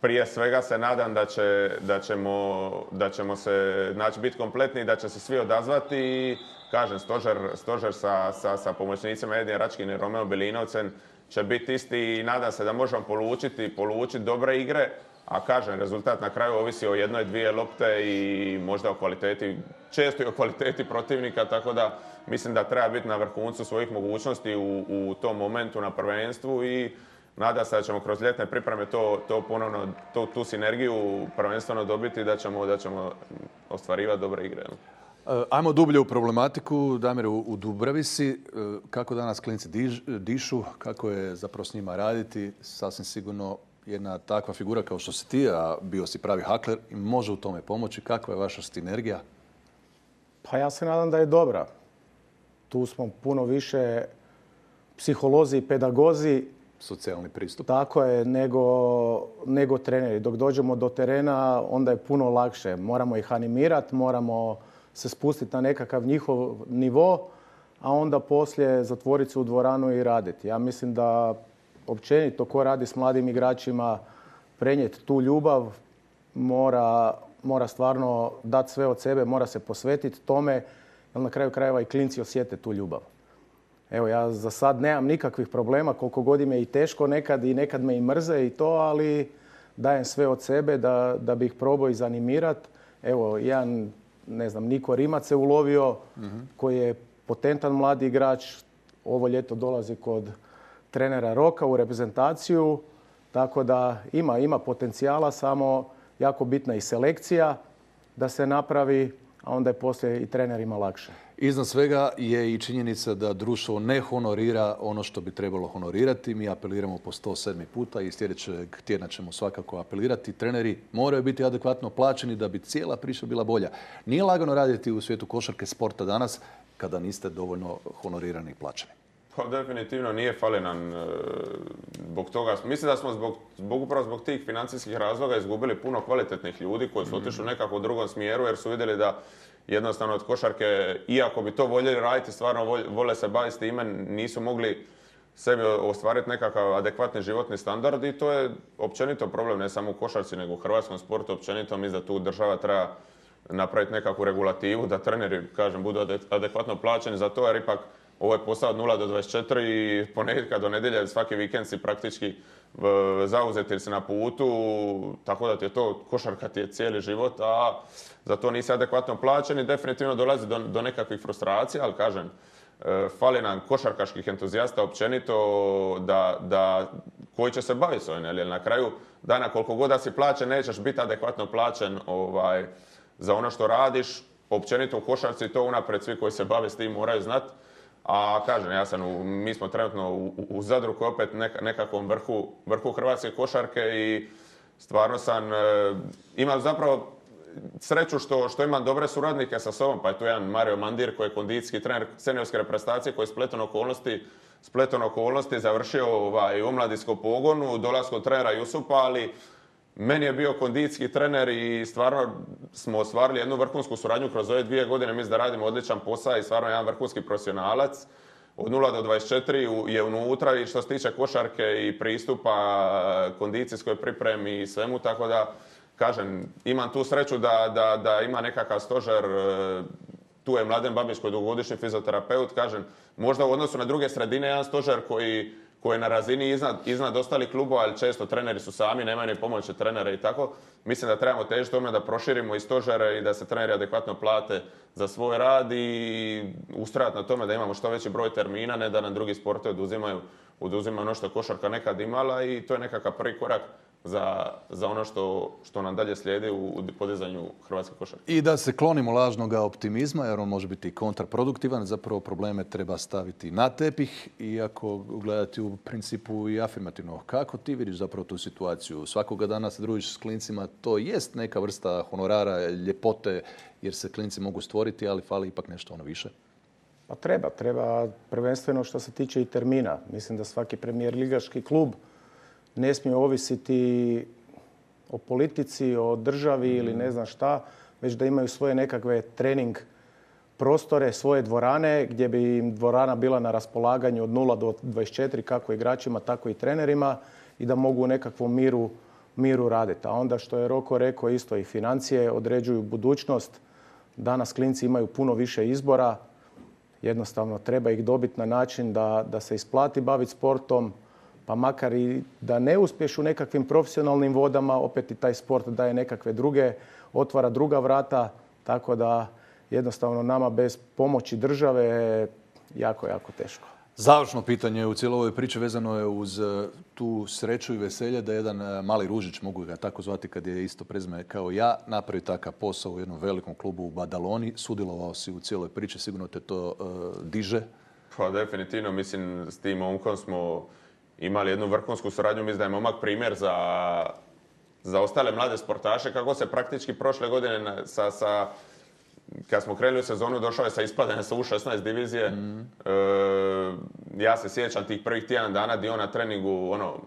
prije svega se nadam da, će, da, ćemo, da ćemo se znači, biti kompletni i da će se svi odazvati. I, kažem, stožer, stožer sa, sa, sa pomoćnicima Edin Račkin i Romeo Belinovcem će biti isti i nadam se da možemo polučiti, polučiti dobre igre. A kažem, rezultat na kraju ovisi o jednoj, dvije lopte i možda o kvaliteti, često i o kvaliteti protivnika, tako da mislim da treba biti na vrhuncu svojih mogućnosti u, u tom momentu na prvenstvu i nadam se da ćemo kroz ljetne pripreme to, to ponovno, to, tu sinergiju prvenstveno dobiti da ćemo, da ćemo ostvarivati dobre igre. Ajmo dublje u problematiku. Damir, u Dubravi si. Kako danas klinci diž, dišu, kako je zapravo s njima raditi? Sasvim sigurno jedna takva figura kao što si ti, a bio si pravi hakler, može u tome pomoći. Kakva je vaša sinergija? Pa ja se nadam da je dobra. Tu smo puno više psiholozi i pedagozi. Socijalni pristup. Tako je, nego, nego treneri. Dok dođemo do terena, onda je puno lakše. Moramo ih animirati, moramo se spustiti na nekakav njihov nivo, a onda poslije zatvoriti se u dvoranu i raditi. Ja mislim da općenito ko radi s mladim igračima, prenijeti tu ljubav, mora, mora stvarno dati sve od sebe, mora se posvetiti tome, jer na kraju krajeva i klinci osjete tu ljubav. Evo, ja za sad nemam nikakvih problema, koliko god im je i teško nekad i nekad me i mrze i to, ali dajem sve od sebe da, da bih probao izanimirati. Evo, jedan, ne znam, Niko Rimac se ulovio, mm-hmm. koji je potentan mladi igrač. Ovo ljeto dolazi kod trenera Roka u reprezentaciju, tako da ima, ima potencijala, samo jako bitna i selekcija da se napravi, a onda je poslije i trenerima lakše. Iznad svega je i činjenica da društvo ne honorira ono što bi trebalo honorirati. Mi apeliramo po sto sedmi puta i sljedećeg tjedna ćemo svakako apelirati. Treneri moraju biti adekvatno plaćeni da bi cijela priča bila bolja. Nije lagano raditi u svijetu košarke sporta danas kada niste dovoljno honorirani i plaćeni. Pa definitivno nije fali nam zbog toga. Mislim da smo zbog, zbog, upravo zbog tih financijskih razloga izgubili puno kvalitetnih ljudi koji su otišli u nekako u drugom smjeru jer su vidjeli da jednostavno od košarke, iako bi to voljeli raditi, stvarno vole se baviti s time, nisu mogli sebi ostvariti nekakav adekvatni životni standard i to je općenito problem, ne samo u košarci, nego u hrvatskom sportu općenito. Mislim da tu država treba napraviti nekakvu regulativu, da treneri, kažem, budu adekvatno plaćeni za to, jer ipak ovo je posao od nula do dvadeset četiri i ponedjeljka do nedjelje, svaki vikend si praktički zauzeti ili si na putu, tako da ti je to, košarka ti je cijeli život, a za to nisi adekvatno plaćen i definitivno dolazi do, do nekakvih frustracija, ali kažem, fali nam košarkaških entuzijasta općenito da, da, koji će se baviti s ovim, jer na kraju dana koliko god da si plaćen, nećeš biti adekvatno plaćen ovaj, za ono što radiš. Općenito u košarci to unaprijed svi koji se bave s tim moraju znati. A kažem, ja sam u, mi smo trenutno u, u Zadru koji je opet neka, nekakvom vrhu, vrhu hrvatske košarke i stvarno sam, e, imam zapravo sreću što, što imam dobre suradnike sa sobom, pa je tu jedan Mario Mandir koji je kondicijski trener seniorske reprezentacije koji je spletom okolnosti, spletom okolnosti završio ovaj, u omladinskom pogonu, dolaskom trenera Jusupa, ali meni je bio kondicijski trener i stvarno smo ostvarili jednu vrhunsku suradnju kroz ove dvije godine. Mislim da radimo odličan posao i stvarno jedan vrhunski profesionalac. Od nula do dvadeset četiri je unutra i što se tiče košarke i pristupa kondicijskoj pripremi i svemu, tako da kažem, imam tu sreću da, da, da ima nekakav stožer. Tu je Mladen Babić koji je dugogodišnji fizioterapeut, kažem, možda u odnosu na druge sredine jedan stožer koji koji je na razini iznad, iznad ostalih klubova, ali često treneri su sami, nemaju ni pomoći trenera i tako. Mislim da trebamo težiti tome da proširimo i stožere i da se treneri adekvatno plate za svoj rad i ustrajati na tome da imamo što veći broj termina, ne da nam drugi sportovi oduzimaju, oduzimaju ono što je košarka nekad imala i to je nekakav prvi korak za, za ono što, što nam dalje slijedi u, u podizanju hrvatske košarke. I da se klonimo lažnog optimizma, jer on može biti kontraproduktivan. Zapravo probleme treba staviti na tepih, iako gledati u principu i afirmativno. Kako ti vidiš zapravo tu situaciju? Svakoga dana se družiš s klincima, to jest neka vrsta honorara, ljepote, jer se klinci mogu stvoriti, ali fali ipak nešto ono više. Pa treba, treba prvenstveno što se tiče i termina. Mislim da svaki premijer ligaški klub ne smije ovisiti o politici, o državi ili ne znam šta, već da imaju svoje nekakve trening prostore, svoje dvorane gdje bi im dvorana bila na raspolaganju od nula do dvadeset četiri kako igračima, tako i trenerima i da mogu u nekakvom miru, miru raditi. A onda što je Roko rekao isto i financije određuju budućnost. Danas klinci imaju puno više izbora. Jednostavno treba ih dobiti na način da, da se isplati baviti sportom, pa makar i da ne uspješ u nekakvim profesionalnim vodama, opet i taj sport daje nekakve druge, otvara druga vrata, tako da jednostavno nama bez pomoći države je jako, jako teško. Završno pitanje u cijeloj ovoj priči vezano je uz tu sreću i veselje da jedan mali Ružić, mogu ga tako zvati kad je isto prezime kao ja, napravi takav posao u jednom velikom klubu u Badaloni. Sudjelovao si u cijeloj priči, sigurno te to uh, diže? Pa definitivno, mislim s tim momkom smo imali jednu vrhunsku suradnju, mislim da je momak primjer za, za ostale mlade sportaše, kako se praktički prošle godine sa, sa kad smo krenuli u sezonu, došao je sa ispadanja sa U šesnaest divizije. Mm. E, ja se sjećam tih prvih tjedan dana gdje on na treningu, ono,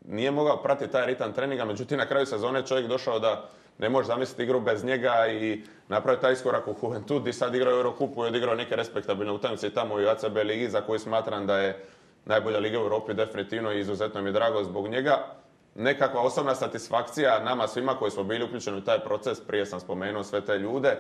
nije mogao pratiti taj ritam treninga, međutim na kraju sezone čovjek došao da ne može zamisliti igru bez njega i napraviti taj iskorak u Juventud i sad igrao Eurokupu i odigrao neke respektabilne utakmice i tamo i u A C B ligi za koju smatram da je najbolja liga u Europi definitivno i izuzetno mi je drago zbog njega. Nekakva osobna satisfakcija nama svima koji smo bili uključeni u taj proces, prije sam spomenuo sve te ljude,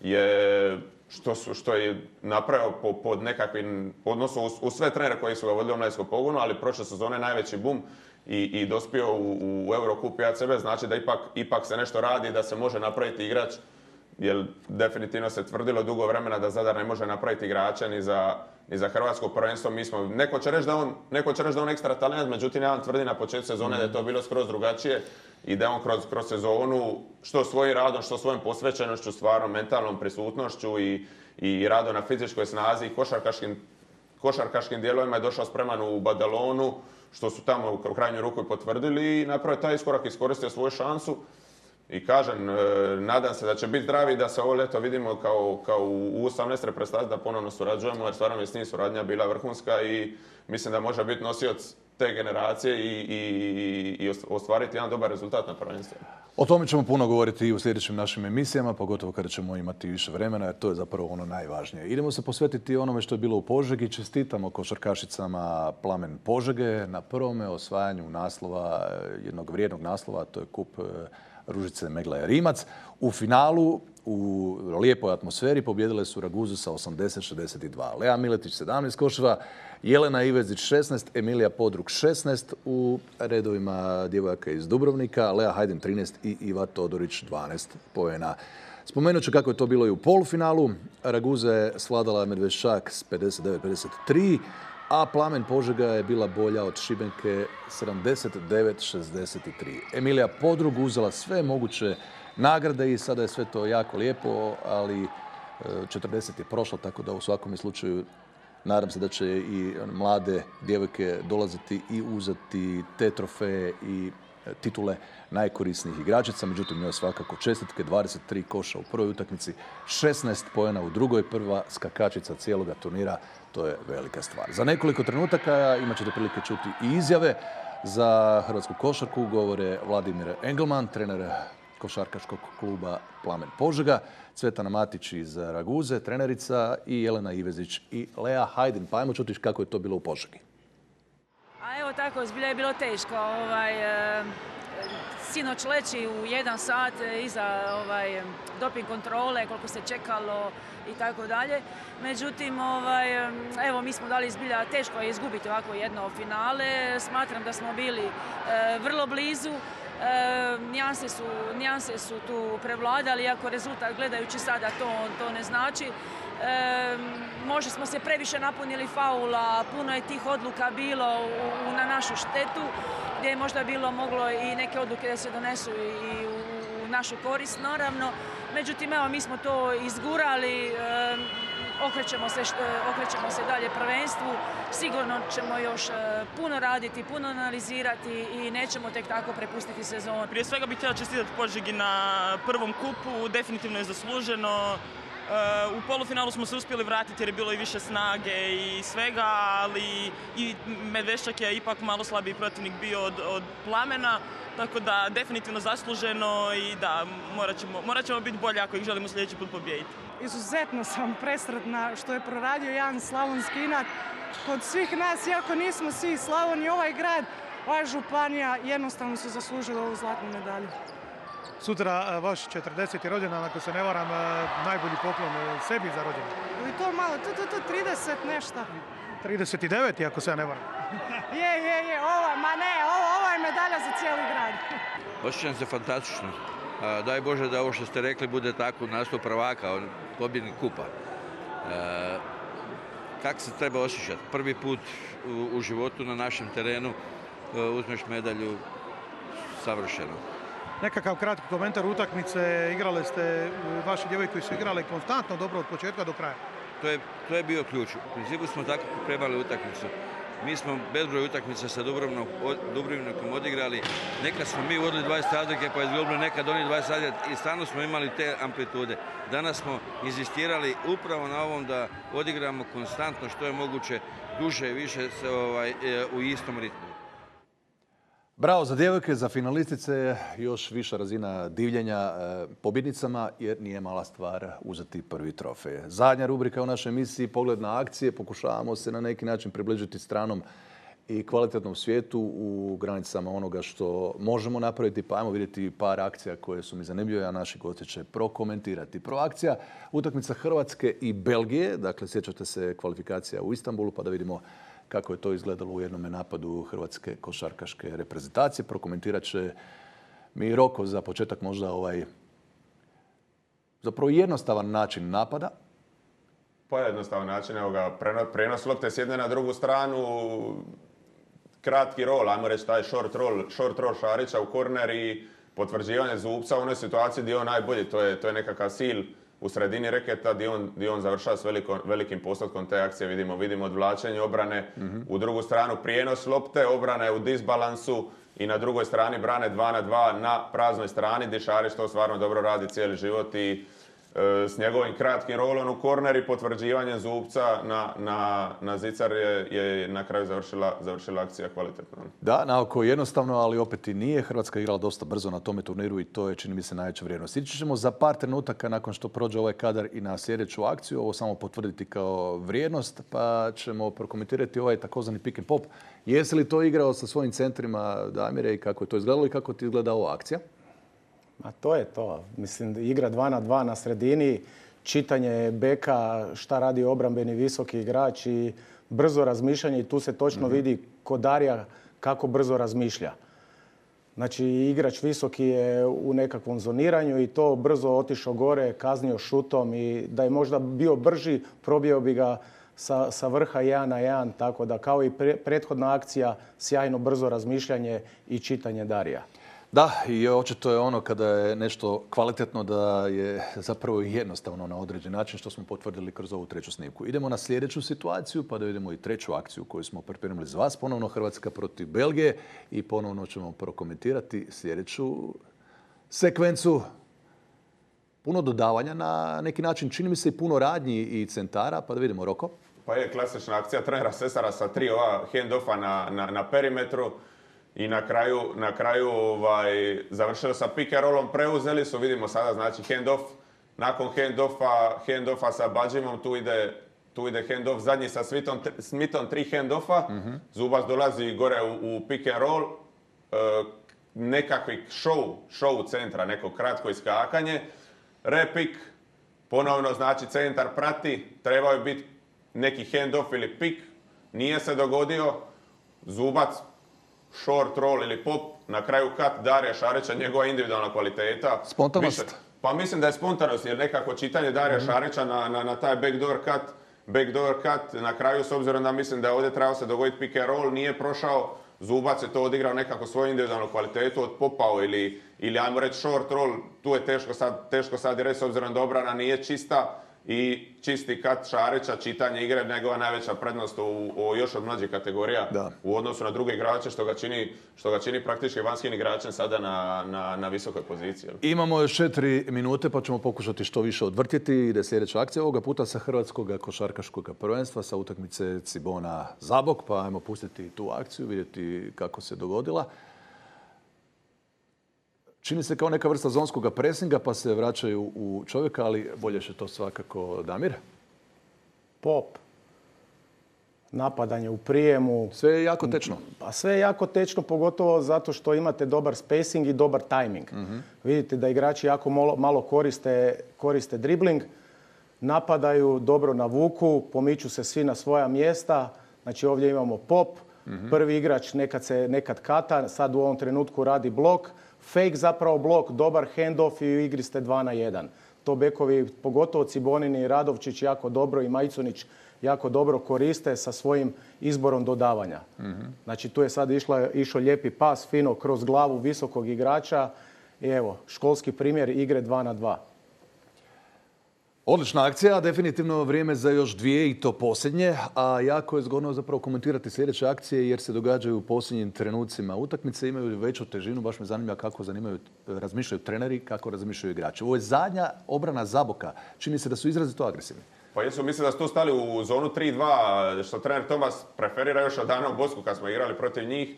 je što, su, što je napravio po, pod nekakvim odnosu uz, uz sve trenere koji su ga vodili u omladinskom pogonu, ali prošle sezone najveći bum i, i dospio u, u Eurocup i A C B, znači da ipak, ipak se nešto radi, da se može napraviti igrač, jer definitivno se tvrdilo dugo vremena da Zadar ne može napraviti igrača ni za, ni za hrvatsko prvenstvo. Mi smo, neko će reći da on, neko će reći da on ekstra talent, međutim ja vam tvrdim na početku sezone da je to bilo skroz drugačije i da on kroz, kroz sezonu što svojim radom, što svojom posvećenošću, stvarno mentalnom prisutnošću i, i radom na fizičkoj snazi i košarkaškim, košarkaškim dijelovima je došao spreman u Badalonu, što su tamo u krajnju ruku i potvrdili i napravio taj iskorak, iskoristio svoju šansu. I kažem, nadam se da će biti zdravi, da se ovo ljeto vidimo kao, kao u osamnaest reprezentaciji, da ponovno surađujemo, jer stvarno je s njim suradnja bila vrhunska i mislim da može biti nosioc te generacije i, i, i ostvariti jedan dobar rezultat na prvenstvu. O tome ćemo puno govoriti i u sljedećim našim emisijama, pogotovo kada ćemo imati više vremena, jer to je zapravo ono najvažnije. Idemo se posvetiti onome što je bilo u Požegi. Čestitamo košarkašicama Plamen Požege na prvome osvajanju naslova, jednog vrijednog naslova, to je kup Ružice Meglaja Rimac. U finalu, u lijepoj atmosferi, pobjedile su Raguzu sa osamdeset šezdeset dva. Lea Miletić sedamnaest koševa, Jelena Ivezić šesnaest, Emilija Podrug šesnaest u redovima djevojaka iz Dubrovnika, Lea Hajdin trinaest i Iva Todorić dvanaest poena. Spomenut ću kako je to bilo i u polufinalu. Raguza je svladala Medveščak s pedeset devet pedeset tri, a Plamen Požega je bila bolja od Šibenke sedamdeset devet šezdeset tri. Emilija Podrug uzela sve moguće nagrade i sada je sve to jako lijepo, ali četrdeset je prošlo, tako da u svakom slučaju nadam se da će i mlade djevojke dolaziti i uzeti te trofeje i titule najkorisnijih igračica. Međutim, njoj svakako čestitke, dvadeset tri koša u prvoj utakmici, šesnaest poena u drugoj, prva skakačica cijeloga turnira. To je velika stvar. Za nekoliko trenutaka imat ćete prilike čuti i izjave za hrvatsku košarku. Govore Vladimir Engelman, trener košarkaškog kluba Plamen Požega, Cvetana Matić iz Raguze, trenerica, i Jelena Ivezić i Lea Hajdin. Pa ajmo čuti kako je to bilo u Požegi. A evo tako, zbilja je bilo teško. Ovaj, e, sinoć leći u jedan sat iza ovaj, doping kontrole, koliko se čekalo i tako dalje. Međutim, ovaj, evo, mi smo dali zbilja, teško je izgubiti ovako jedno finale. Smatram da smo bili e, vrlo blizu. E, nijanse su, nijanse su tu prevladali, iako rezultat gledajući sada to, to ne znači. E, možda smo se previše napunili faula, puno je tih odluka bilo u, u, na našu štetu, gdje je možda bilo moglo i neke odluke da se donesu i u, u našu korist, naravno. Međutim, evo, mi smo to izgurali, e, okrećemo se, okrećemo se dalje prvenstvu. Sigurno ćemo još puno raditi, puno analizirati i nećemo tek tako prepustiti sezonu. Prije svega bih htjela čestitati Požegi na prvom kupu, definitivno je zasluženo. U polufinalu smo se uspjeli vratiti jer je bilo i više snage i svega, ali i Medveščak je ipak malo slabiji protivnik bio od, od Plamena, tako da definitivno zasluženo i da morat ćemo, morat ćemo biti bolji ako ih želimo sljedeći put pobijediti. Izuzetno sam presretna što je proradio jedan slavonski inat kod svih nas, iako nismo svi Slavoni, ovaj grad, ova županija jednostavno su zaslužili ovu zlatnu medalju. Sutra vaš četrdeseti rođendan, ako se ne varam, najbolji poklon sebi za rođendan. I to malo, to, to, to trideset nešto. trideset devet, ako se ja ne varam. Je, je, je, ovo, ma ne, ovo, ovo je medalja za cijeli grad. Osjećam se fantastično. Daj Bože da ovo što ste rekli bude tako nastup prvaka, pobjednik kupa. E, kako se treba osjećati? Prvi put u, u životu na našem terenu uzmeš medalju, savršeno. Nekakav kratki komentar utakmice, igrale ste, vaši djevojke su igrale konstantno dobro od početka do kraja. To je, to je bio ključ. U principu smo tako pripremali utakmicu. Mi smo bezbroj utakmica sa Dubrovnikom odigrali. Nekad smo mi vodili dvadeset razlike pa izgubili, nekad oni dvadeset razlike i stalno smo imali te amplitude. Danas smo inzistirali upravo na ovom da odigramo konstantno što je moguće duže i više ovaj, u istom ritmu. Bravo za djevojke, za finalistice, još viša razina divljenja pobjednicama jer nije mala stvar uzeti prvi trofej. Zadnja rubrika u našoj emisiji, pogled na akcije, pokušavamo se na neki način približiti stranom i kvalitetnom svijetu u granicama onoga što možemo napraviti, pa ajmo vidjeti par akcija koje su mi zanimljive, a naši gosti će prokomentirati. Prva akcija, utakmica Hrvatske i Belgije, dakle sjećate se kvalifikacija u Istanbulu, pa da vidimo kako je to izgledalo u jednom napadu hrvatske košarkaške reprezentacije. Prokomentirat će mi Roko za početak možda ovaj zapravo jednostavan način napada. Pa jednostavan način, evo ga, prenos lopte s jedne na drugu stranu, kratki rol, ajmo reći taj short roll, short roll Šarića u korner i potvrđivanje Zubca u onoj situaciji gdje je on najbolji, to je, to je nekakav sil u sredini reketa gdje on, gdje on završava s veliko, velikim postotkom te akcije. Vidimo, vidimo odvlačenje obrane, mm-hmm. u drugu stranu prijenos lopte, obrana je u disbalansu i na drugoj strani brane dva na dva na praznoj strani gdje Šarić to stvarno dobro radi cijeli život i e, s njegovim kratkim rolom u korner i potvrđivanjem Zubca na, na, na zicar je, je na kraju završila, završila akcija kvalitetno. Da, naoko jednostavno, ali opet i nije. Hrvatska igrala dosta brzo na tome turniru i to je, čini mi se, najveća vrijednost. Ići ćemo za par trenutaka nakon što prođe ovaj kadar i na sljedeću akciju. Ovo samo potvrditi kao vrijednost, pa ćemo prokomentirati ovaj takozvani pick and pop. Jesi li to igrao sa svojim centrima, Damire, i kako je to izgledalo i kako ti izgleda ova akcija? A to je to. Mislim, igra dva na dva na sredini, čitanje beka, šta radi obrambeni visoki igrač i brzo razmišljanje i tu se točno mm-hmm. vidi kod Darija kako brzo razmišlja. Znači, igrač visoki je u nekakvom zoniranju i to brzo otišao gore, kaznio šutom i da je možda bio brži, probio bi ga sa, sa vrha jedan na jedan, tako da kao i pre, prethodna akcija, sjajno brzo razmišljanje i čitanje Darija. Da, i očito je ono kada je nešto kvalitetno da je zapravo jednostavno na određen način, što smo potvrdili kroz ovu treću snimku. Idemo na sljedeću situaciju pa da vidimo i treću akciju koju smo pripremili za vas. Ponovno Hrvatska protiv Belgije i ponovno ćemo prokomentirati sljedeću sekvencu. Puno dodavanja na neki način, čini mi se i puno radnji i centara, pa da vidimo Roko. Pa je klasična akcija trenera Sesara sa tri ova hand-offa na, na, na perimetru. I na kraju, na kraju ovaj, završili sa pick and rollom, preuzeli su, vidimo sada, znači hand-off. Nakon hand-offa, hand-offa sa Badžimom, tu ide, tu ide hand-off zadnji sa Smithom, Smithom tri hand-offa. Mm-hmm. Zubac dolazi gore u, u pick and roll. E, nekakvi show, show centra, neko kratko iskakanje. Repik, ponovno znači centar prati, trebao je biti neki hand-off ili pick. Nije se dogodio. Zubac short roll ili pop, na kraju cut Darija Šarića, njegova individualna kvaliteta. Spontanost? Više, pa mislim da je spontanost, jer nekako čitanje Darija mm-hmm. Šarića na, na, na taj backdoor cut, backdoor cut, na kraju, s obzirom da mislim da je ovdje trebao se dogoditi pick and roll, nije prošao, Zubac je to odigrao nekako svoju individualnu kvalitetu, odpopao ili, ili ajmo reći short roll, tu je teško sad, teško sad reći, s obzirom da obrana nije čista, i čisti kat Šarića, čitanje igre, njegova najveća prednost u, u još od mlađih kategorija da. U odnosu na druge igrače, što ga čini, što ga čini praktički vanjskim igračem sada na, na, na visokoj poziciji. Imamo još četiri minute pa ćemo pokušati što više odvrtjeti. Ide sljedeća akcija ovoga puta sa Hrvatskog košarkaškog prvenstva sa utakmice Cibona Zabok, pa ajmo pustiti tu akciju, vidjeti kako se dogodila. Čini se kao neka vrsta zonskog presinga, pa se vraćaju u čovjeka, ali bolje je to svakako Damir. Pop. Napadanje u prijemu. Sve je jako tečno. Pa sve je jako tečno, pogotovo zato što imate dobar spacing i dobar timing. Mm-hmm. Vidite da igrači jako malo, malo koriste, koriste dribling, napadaju, dobro navuku, pomiču se svi na svoja mjesta. Znači ovdje imamo pop, mm-hmm. prvi igrač nekad se nekad kata, sad u ovom trenutku radi blok. Fake zapravo blok, dobar handoff i u igri ste dva na jedan. To bekovi, pogotovo Cibonin i Radovčić jako dobro i Majcunić jako dobro koriste sa svojim izborom dodavanja. Mm-hmm. Znači tu je sad išla, išao lijepi pas fino kroz glavu visokog igrača i evo, školski primjer igre dva na dva. Odlična akcija, definitivno vrijeme za još dvije i to posljednje, a jako je zgodno zapravo komentirati sljedeće akcije jer se događaju u posljednjim trenucima. Utakmice imaju veću težinu, baš me zanima kako zanimaju, razmišljaju treneri, kako razmišljaju igrači. Ovo je zadnja obrana Zaboka. Čini se da su izrazito agresivni. Pa jesu, mislim da su tu stali u zonu tri dva, što trener Tomas preferira još od dana u Bosku kad smo igrali protiv njih.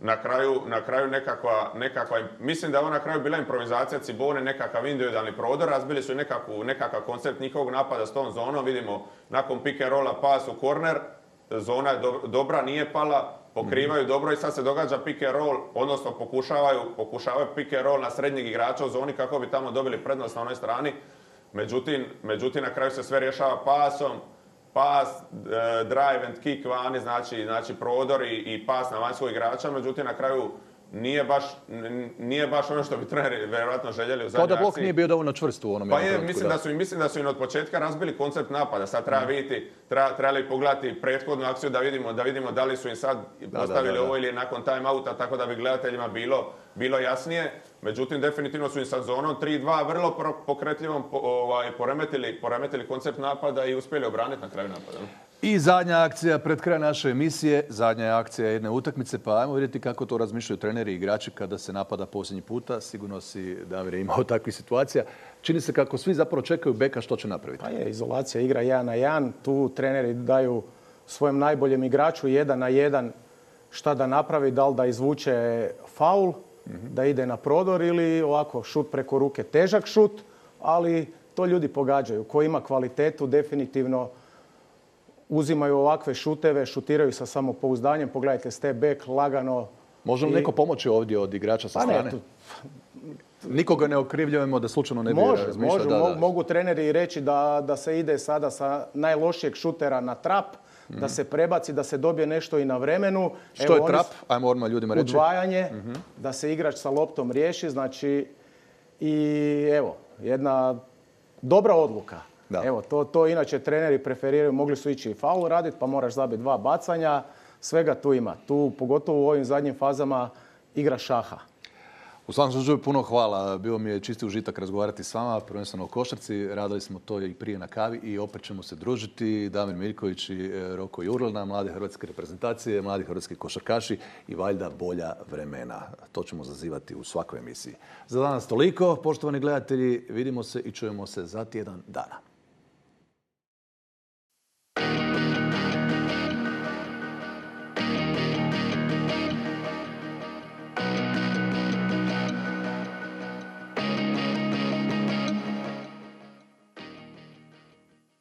Na kraju, na kraju nekakva, nekakva, mislim da je ovo na kraju bila improvizacija Cibone, nekakav individualni prodor, razbili su nekakvu, nekakav koncept njihovog napada s tom zonom, vidimo nakon pick and rolla pas u korner, zona je do, dobra, nije pala, pokrivaju mm-hmm. dobro i sad se događa pick and roll, odnosno pokušavaju, pokušavaju pick and roll na srednjeg igrača u zoni kako bi tamo dobili prednost na onoj strani, međutim, međutim na kraju se sve rješava pasom, pas, drive and kick vani, znači, znači prodor i, i pas na vanjskog igrača, međutim na kraju nije baš, nije baš ono što bi treneri vjerojatno željeli u zadnjoj akciji. Kao da blok nije bio dovoljno čvrst u onom Pa je, mislim da su, mislim da su im od početka razbili koncept napada. Sad treba vidjeti, treba, trebali pogledati prethodnu akciju da vidimo, da vidimo da li su im sad da, postavili da, da, da. ovo ili nakon time outa, tako da bi gledateljima bilo, bilo jasnije. Međutim, definitivno su im sa zonom tri dva vrlo pokretljivom po, ovaj, poremetili, poremetili koncept napada i uspjeli obraniti na kraju napada. I zadnja akcija pred kraj naše emisije, zadnja je akcija jedne utakmice, pa ajmo vidjeti kako to razmišljaju treneri i igrači kada se napada posljednji puta. Sigurno si, Damire, imao takvih situacija. Čini se kako svi zapravo čekaju beka što će napraviti. Pa je, izolacija igra jedan na jedan. Tu treneri daju svojem najboljem igraču jedan na jedan šta da napravi, da li da izvuče faul, mm-hmm. da ide na prodor ili ovako šut preko ruke. Težak šut, ali to ljudi pogađaju. Ko ima kvalitetu, definitivno uzimaju ovakve šuteve, šutiraju sa samopouzdanjem. Pogledajte, step back, lagano. Može li i... neko pomoći ovdje od igrača sa pa strane? Ne, tu... Nikoga ne okrivljujemo da slučajno ne bi može, razmišljao. Može, da, da. Mogu treneri reći da, da se ide sada sa najlošijeg šutera na trap, mm-hmm. da se prebaci, da se dobije nešto i na vremenu. Što Evo, je trap? Ajmo odmah ljudima reći. Udvajanje, mm-hmm. da se igrač sa loptom riješi. Znači, i evo, jedna dobra odluka. Da. Evo, to, to inače treneri preferiraju, mogli su ići i faul raditi, pa moraš zabiti dva bacanja. Svega tu ima. Tu, pogotovo u ovim zadnjim fazama, igra šaha. U svakom slučaju puno hvala. Bio mi je čisti užitak razgovarati s vama, prvenstveno o košarci. Radili smo to i prije na kavi i opet ćemo se družiti. Damir Miljković i Roko Jurlina, mlade hrvatske reprezentacije, mladi hrvatski košarkaši i valjda bolja vremena. To ćemo zazivati u svakoj emisiji. Za danas toliko. Poštovani gledatelji, vidimo se i čujemo se za tjedan dana.